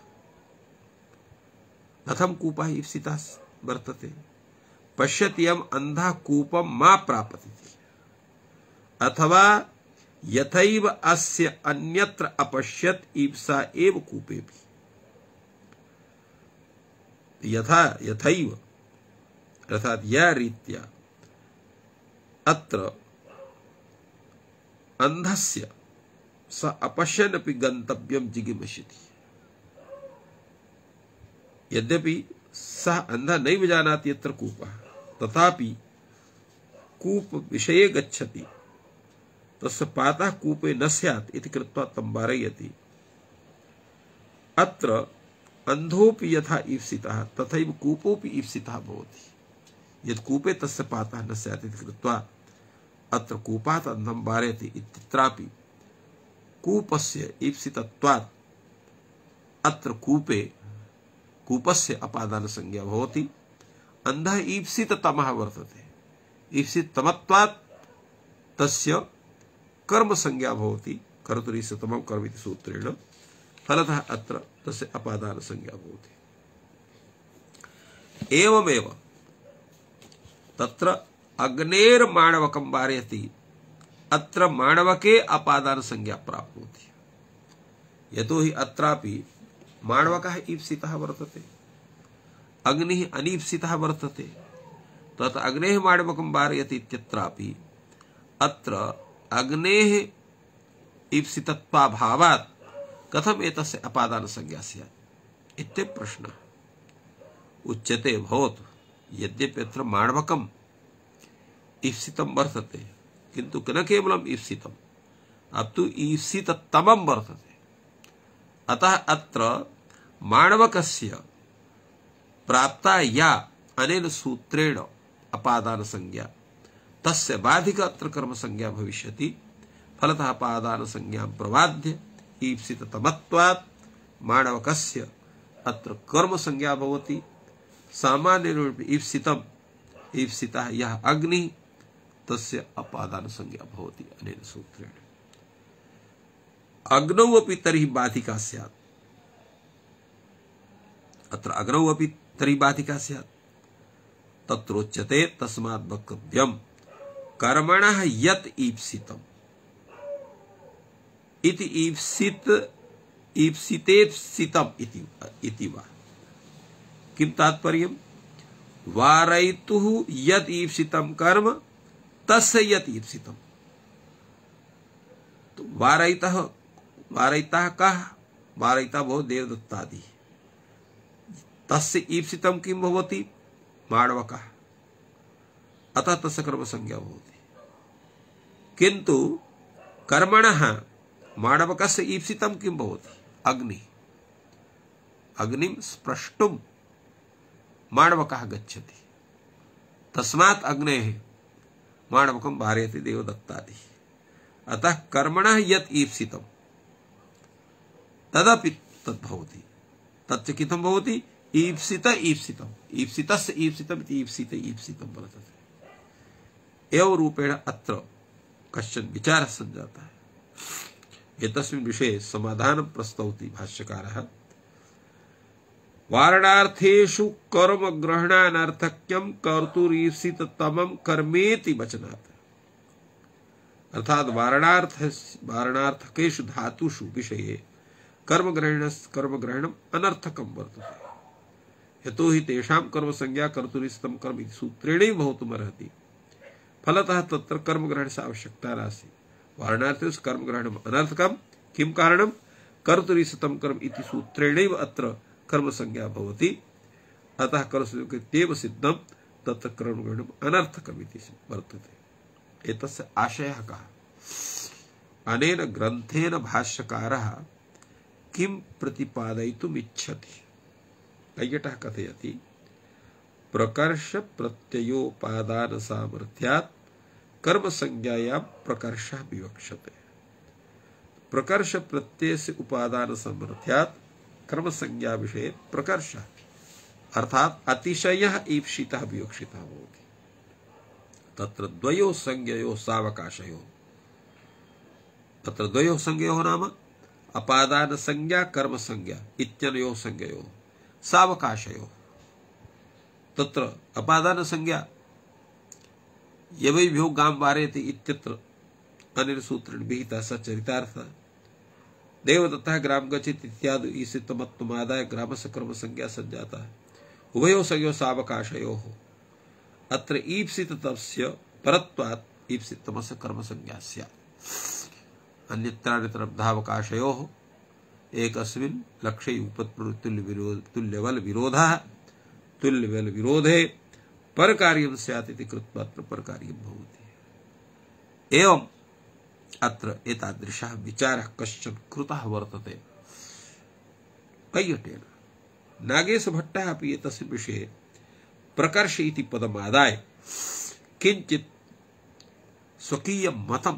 कथं कूपः ईप्सितः वर्तते? पश्यत्ययम् अन्धः कूपं मा प्रापति, अथवा यथैव अस्य अन्यत्र अपश्यत् ईप्सा एव कूपेऽपि। यथा यथैव अर्थात् या रीत्या अत्र अन्धस्य स अपश्यन् अपि गन्तव्यं जिगीषति। यद्यपि सः अन्धः नैव जानाति यत्र कूपः, तथापि कूप विषये गच्छति, तस्य पातः कूपे न स्यात् इति कृत्वा तं वारयति। अत्र अन्धोऽपि यथा ईप्सितः तथैव कूपोऽपि ईप्सितः भवति। यत् कूपे तस्य पातः न स्यात् इति कृत्वा अत्र कूपात् अन्धं वारयति इत्यत्रापि कूपस्य ईप्सितत्वात् अत्र कूपे कूपस्य अपादान संज्ञा भवति। अन्धः ईप्सिततमः वर्तते, ईप्सिततमत्वात् तस्य कर्म संज्ञा भवति। कर्तुरीप्सिततमं कर्म इति सूत्रेण फलतः अत्र तस्य अपादान संज्ञा भवति। एवमेव तत्र अग्नेर्माणवकं वारयति, अत्र माणवके अपादान संज्ञा प्राप्नोति। यतोहि अत्रापि माणवकः ईप्सितः वर्तते, अग्निः अनीप्सितः वर्तते। तत् अग्नेः माणवकं वारयति इत्यत्रापि अत्र अग्नेः ईप्सितत्वाभावात् कथम् एतस्य अपादान संज्ञा स्यात् इति प्रश्नः उच्यते। भवतु यद्यपि अत्र माणवकम् ईप्सितं वर्तते, किन्तु न केवलम् ईप्सितम्, अपितु ईप्सिततमं वर्तते। अतः अत्र माणवकस्य प्राप्ता या अनेन सूत्रेण अपादान संज्ञा, तस्य बाधिक अत्र कर्म संज्ञा भविष्यति। फलतः अपादान संज्ञां प्रबाध्य ईप्सिततमत्वात् माणवकस्य अत्र कर्म संज्ञा भवति। सामान्यरूपेण ईप्सितम्, ईप्सितः यः अग्निः, तस्य अपादान संज्ञा भवति अनेन सूत्रेण। अग्नौ अपि तर्हि बाधिका स्यात्। अत्र अग्नौ अपि तर्हि बाधिका स्यात्। तत्रोच्यते तस्मात् वक्तव्यम् कर्मणः यत् ईप्सितम् इति ईप्सित ईप्सितेप्सितम् इति इति वा। किं तात्पर्यम्? वारयितुः यत् ईप्सितं कर्म तस्य यत् ईप्सितं। तो वारयितः वारयितः कः? वारयिता भवति देवदत्तादि। तस्य ईप्सितं किं भवति? माणवकः। अतः तस्य कर्म संज्ञा भवति। किन्तु कर्मणः माणवकस्य ईप्सितं किं भवति? अग्निः। अग्निं स्प्रष्टुं माणवकः गच्छति, तस्मात् अग्नेः माणवकं वारयति देवदत्तादि। अतः कर्मणः यत् ईप्सितं तदपि तद्भवति। तच्च किथं भवति? ईप्सित ईप्सितम्। ईप्सितस्य ईप्सितम् इति ईप्सित ईप्सितं वर्तते। एवं रूपेण अत्र कश्चन विचारः सञ्जातः। एतस्मिन् विषये समाधानं प्रस्तौति भाष्यकारः। वारणार्थेषु कर्म ग्रहणानर्थक्यं कर्तुरीप्सिततमं कर्मेति वचनात्। अर्थात वारणार्थ वारणार्थकेषु धातुषु विषये कर्म ग्रहण कर्म ग्रहणम् अनर्थकं वर्तते। यतो हि तेषां कर्म संज्ञा कर्तुरीप्सितं कर्म इति सूत्रेणैव भवितुमर्हति। फलतः तत्र कर्म ग्रहणस्य आवश्यकता नास्ति। वारणार्थेषु कर्म ग्रहणम् अनर्थकं। किं कारणं? कर्तुरीप्सितं कर्म इति सूत्रेणैव अत्र कर्म संज्ञा भवति। अतः कर्मसंज्ञा सिद्धं तत्र कर्म ग्रहणम् अनर्थकम् इति वर्तते। एतस्य आशयः कः? अनेन ग्रन्थेन भाष्यकारः किं प्रतिपादयितुम् इच्छति? कैयटः कथयति, प्रकर्ष प्रत्ययोपादान सामर्थ्यात् कर्म संज्ञायां प्रकर्षः विवक्षते। प्रकर्ष प्रत्ययस्य उपादान सामर्थ्यात् कर्म संज्ञा विषये प्रकर्षः अर्थात अतिशयः ईप्सितः विवक्षितः भवति। तत्र द्वयोः संज्ञयोः सावकाशयोः तत्र द्वयोः संज्ञयोः नाम अपादान संज्ञा कर्म संज्ञा इत्यनयोः संज्ञयोः सावकाशयोः। तत्र अपादान संज्ञा यवैभ्यो गां वारयति इत्यत्र अनेन सूत्रेण विहितः स चरितार्थः। देवदत्तः ग्राम गच्छति इत्यादि ईप्सितमत्वमादाय ग्रामस्य कर्म संज्ञा सञ्जाता। उभयोः संज्ञयोः सावकाशयोः अत्र ईप्सितस्य परत्वात् ईप्सितमस्य कर्म संज्ञा स्यात्। अन्यत्रान्यत्रावकाशयोः एकस्मिन् लक्ष्ये तुल्यबल विरोधः तुल्यबल विरोधे परकार्यं स्यात् इति कृत्वा अत्र परकार्यं भवति। एवं अत्र एतादृशः विचारः कश्चन कृतः वर्तते कैयटेन। नागेशभट्टः अपि एतस्मिन् विषये प्रकर्ष इति पदमादाय किञ्चित् स्वकीयं मतं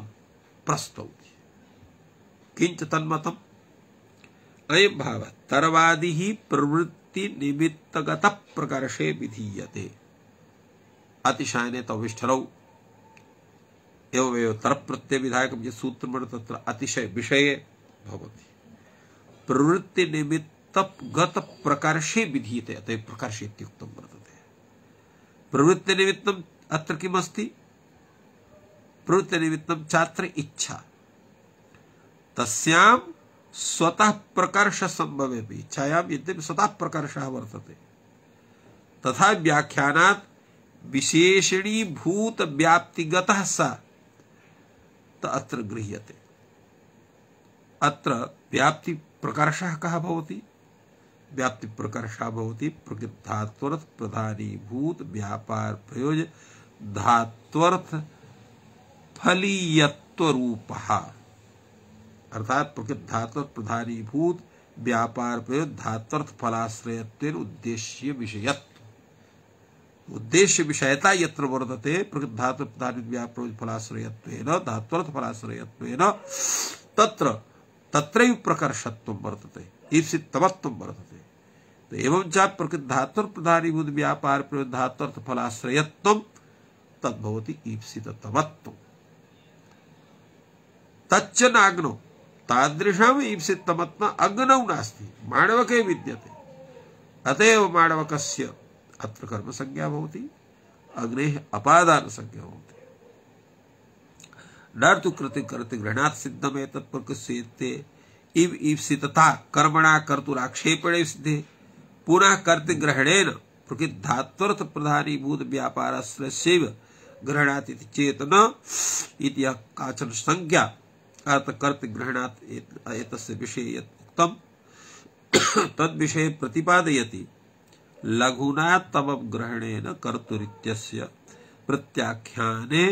प्रस्तौति। किञ्च तन्मतम् अयं भावः तरवादिः प्रवृत्ति निमित्तगतः प्रकर्षे विधीयते। अतिशयने तविष्ठरौ एवमेव तरप्रत्यय विधायकं यत् सूत्रं तत्र अतिशय विषये भवति। प्रवृत्ति निमित्तगत प्रकर्षे विधीयते अतः प्रकर्ष इत्युक्तं वर्तते। प्रवृत्ति निमित्तम् अत्र किमस्ति? प्रवृत्ति निमित्तं छात्र इच्छा। तस्यां स्वतः प्रकर्ष संभवेपि इच्छायां यद्यपि स्वतः प्रकर्षः वर्तते तथा व्याख्यानात् विशेषणीभूत व्याप्तिगतः सा अत्र गृह्यते। अत्र व्याप्ति प्रकर्षः कः भवति? व्याप्ति प्रकर्षः भवति प्रकृद्धात्वर्थ प्रधानीभूत व्यापार प्रयोज्य धात्वर्थ फलीयत्व रूपः। अर्थात प्रकृद्धात्वर्थ प्रधानीभूत व्यापार प्रयोज्य धात्वर्थ फलाश्रयत्वेन उद्देश्य विषयत्व। उद्देश्य विषयता यत्र वर्तते प्रकृद्धात्वर्थ प्रधानीभूत व्यापार फलाश्रयत्वेन धात्वर्थ फलाश्रयत्वेन तत्र तत्रैव प्रकर्षत्वं वर्तते, ईप्सितमत्वं वर्तते। तो एवं च प्रकृद्धात्वर्थ प्रधानीभूत व्यापार प्रयोज्य धात्वर्थ फलाश्रयत्वं तद्भवति ईप्सिततमत्वम्। तच्च नाग्नौ तादृशम् ईप्सिततमत्वम् अग्नौ नास्ति, माणवके विद्यते। अतएव माणवकस्य अत्र कर्म संज्ञा भवति, अग्नेः अपादान संज्ञा भवति। न तु कृति कर्तृ ग्रहणात् सिद्धम् एतत् प्रकृत्येते इव ईप्सितता कर्मणा कर्तुराक्षेपणे सिद्धे पुनः कर्तृग्रहणेन प्रकृद्धात्वर्थ प्रधानीभूत व्यापाराश्रयस्यैव ग्रहणात् इति चेतन इति काचन संज्ञा अर्थकर्तृग्रहणात् एतस्य विषये यत् उक्तं तद्विषये प्रतिपादयति लघुना तमग्रहणेन कर्तुरित्यस्य प्रत्याख्याने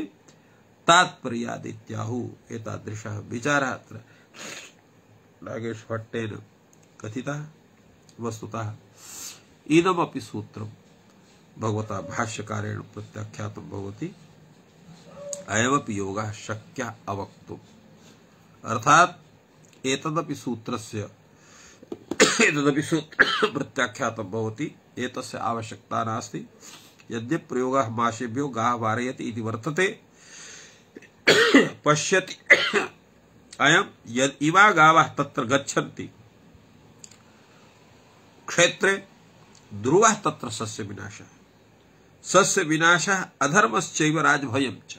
तात्पर्यादित्याहुः। एतादृशः विचारः अत्र नागेशभट्टेन कथितः। वस्तुतः इदमपि सूत्रं भगवता भाष्यकारेण प्रत्याख्यातं भवति। अयमपि योगः शक्यः अवक्तुम्। अर्थात् एतदपि सूत्रस्य एतदपि सूत्र प्रत्याख्यातं भवति। एतस्य आवश्यकता नास्ति। यद्यपि प्रयोगः मासेभ्यो गाः वारयति इति वर्तते, पश्यति अयं यद् इमा गावः तत्र गच्छन्ति क्षेत्रे ध्रुवः तत्र सस्य विनाशः। सस्य विनाशः अधर्मश्चैव राजभयं च।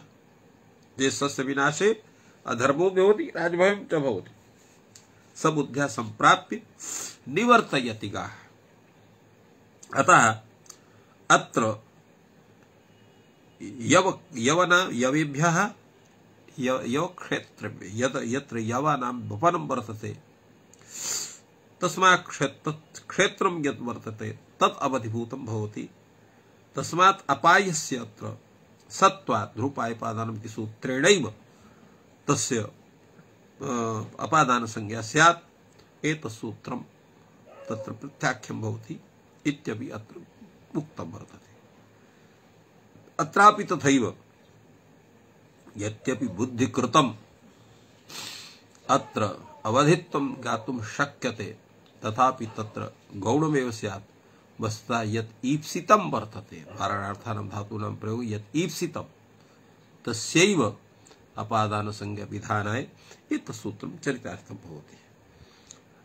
ये सस्य विनाशे अधर्मो भवति राजभयं च भवति। सबुद्ध्या संप्राप्य निवर्तयति गाः। अतः अत्र यव यवना यवेभ्यः यव क्षेत्र में यद यत्र यवानां वपनं वर्तते तस्मात् क्षेत्र क्षेत्रं यत् वर्तते तत् अवधिभूतं भवति। तस्मात् अपायस्य अत्र सत्त्वात् ध्रुपायपादानम् इति सूत्रेणैव तस्य अपादान संज्ञा स्यात्। एतत् सूत्रं तत्र प्रत्याख्यं भवति इत्यपि अत्र उक्तं वर्तते। अत्रापि तथैव यद्यपि बुद्धिकृतम् अत्र अवधित्वं ज्ञातुं शक्यते तथापि तत्र गौणमेव स्यात्। वस्तुतः यत् ईप्सितं वर्तते वारणार्थानां धातूनां प्रयोगे यत् ईप्सितं तस्यैव अपादान संज्ञा विधानाय एतत् सूत्रं चरितार्थं भवति।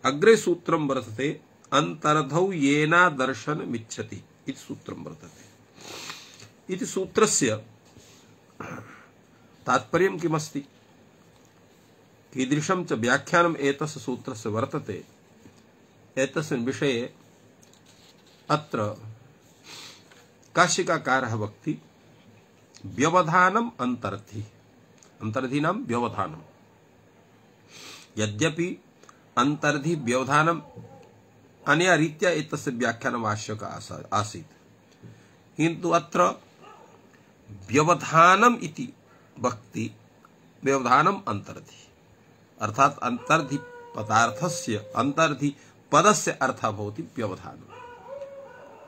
अग्रे सूत्रं वर्तते अंतर्धौ येना दर्शनमिच्छति इति सूत्रं वर्तते। इति सूत्रस्य तात्पर्यं किमस्ति कीदृशं च व्याख्यानम् एतस्य सूत्रस्य वर्तते एतस्मिन् विषये अत्र काशिकाकारः वक्ति व्यवधानम् अंतर्धि अंतर्धीनां व्यवधानम्। यद्यपि अंतर्धि व्यवधानम् अनया रीत्या एतस्य व्याख्यानम् आवश्यकम् आसीत् किन्तु अत्र व्यवधानम् इति वक्ति व्यवधानम् अंतर्धि अर्थात अंतर्धि पदार्थस्य अंतर्धि पदस्य अर्थः भवति व्यवधानम्।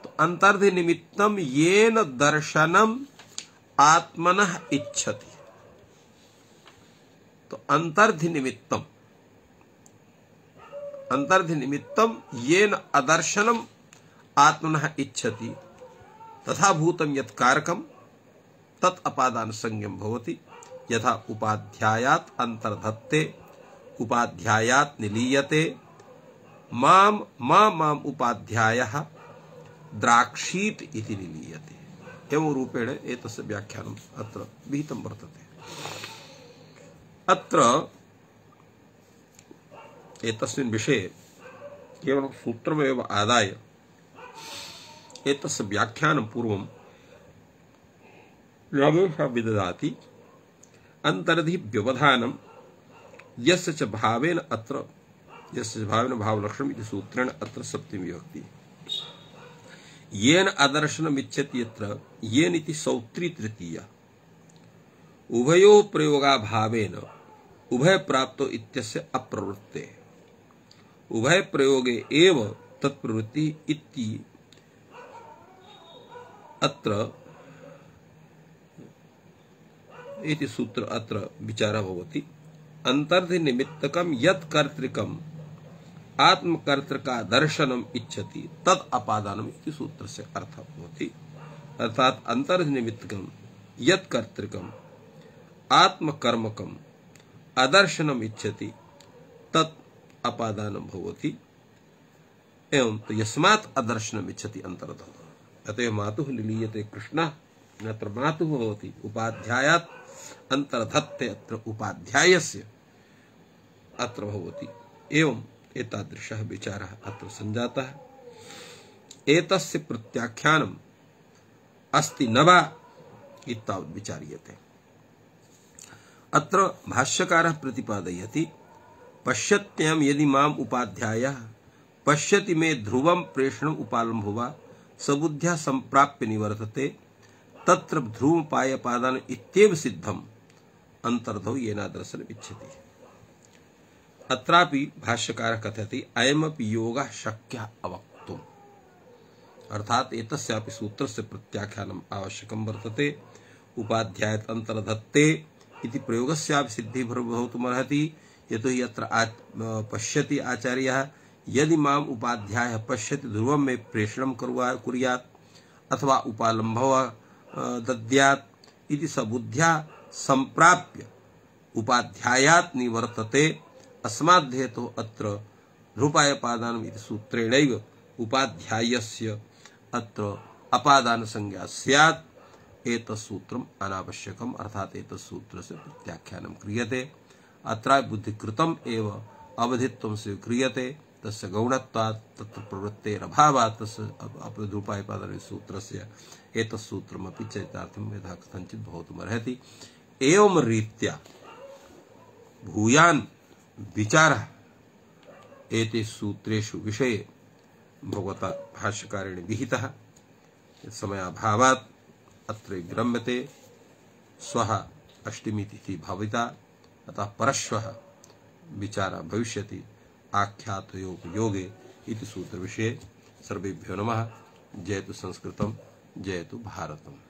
तो अंतर्धि निमित्तं येन दर्शनम् आत्मनः इच्छति। तो अंतर्धि निमित्तम् अंतर्धि निमित्तं येन अदर्शनम् आत्मनः इच्छति तथा भूतं यत् कारकम् तत् अपादान संज्ञं भवति। यथा उपाध्यायात् अंतर्धत्ते उपाध्यायात् निलीयते माम मा माम उपाध्यायः द्राक्षीत् इति निलीयते। एवं रूपेण एतस्य व्याख्यानम् अत्र विहितं वर्तते। अत्र एतस्मिन् विषये केवलं सूत्रमेव आदाय एतस्य व्याख्यानं पूर्वं नागेशः विददाति। अंतर्धि व्यवधानं यस्य च भावेन अत्र यस्य भावेन भावलक्षणम् इति सूत्रेण अत्र सप्तमी विभक्ति। येन अदर्शनम् इच्छति यत्र येन इति सौत्री तृतीया उभयोः प्रयोगाभावेन उभय प्राप्तो इत्यस्य अप्रवृत्ते उभय प्रयोगे एव तत्प्रवृत्ति इति अत्र इति सूत्र अत्र विचारः भवति। अंतर्धि निमित्तकं यत् कर्तृकम् आत्मकर्तृका दर्शनम् इच्छति तत् अपादानम् इति सूत्रस्य अर्थः भवति। अर्थात अंतर्धि निमित्तकं यत् कर्तृकम् आत्मकर्मकम् अदर्शनम् इच्छति तत् अपादानं भवति। एवं तो यस्मात् अदर्शनम् इच्छति अंतरतः अतः मातुः निलीयते कृष्णः अत्र मातुः भवति उपाध्यायात् अंतर्धत्ते अत्र उपाध्यायस्य अत्र भवति। एवं एतादृशः विचारः अत्र सञ्जातः। एतस्य प्रत्याख्यानम् अस्ति न वा इत्तावत् विचार्यते। अत्र भाष्यकारः प्रतिपादयति पश्यत्यं यदि माम उपाध्यायः पश्यति मे ध्रुवं प्रेषणम् उपालम्भो वा सबुद्ध्या संप्राप्य निवर्तते तत्र ध्रुवपायपादान इत्येव सिद्धम् अंतर्धौ येनादर्शन इच्छति। अत्रापि भाष्यकारः कथयति अयमपि योगः शक्यः अवक्तुम्, अर्थात एतस्यापि सूत्रस्य प्रत्याख्यानम् आवश्यकं वर्तते। उपाध्यायात् अंतर्धत्ते इति प्रयोगस्यापि सिद्धिः भवितुमर्हति, यतोहि यत्र पश्यति आचार्यः यदि माम उपाध्यायः पश्यति ध्रुवं मे प्रेषणं कुर्यात् अथवा उपालम्भः दद्यात् इति सबुद्ध्या संप्राप्य उपाध्यायात् निवर्तते। अस्माद्धेतोः अत्र ध्रुपायपादानम् इति सूत्रेणैव उपाध्यायस्य अत्र अपादान संज्ञा स्यात्। एतत्सूत्रम् अनावश्यकम्, अर्थात एतत्सूत्रस्य प्रत्याख्यानं क्रियते। अत्र बुद्धिकृतम् एव अवधित्वं स्वीक्रियते, तस्य गौणत्वात् तत्र प्रवृत्तेरभावात् तस्य ध्रुपायपादान सूत्रस्य एतत्सूत्रमपि चरितार्थं यथा कथञ्चित् भवितुमर्हति। एवं रीत्या भूयान् विचारः एतेषु सूत्रेषु विषये भगवता भाष्यकारेण विहितः। समयाभावात् अत्र विरम्यते। श्वः अष्टमी तिथि भविता, अतः परश्वः विचारः भविष्यति आख्यातयोग योगे इति सूत्र विषये। सर्वेभ्यो नमः। जयतु संस्कृतम्, जयतु भारतम्।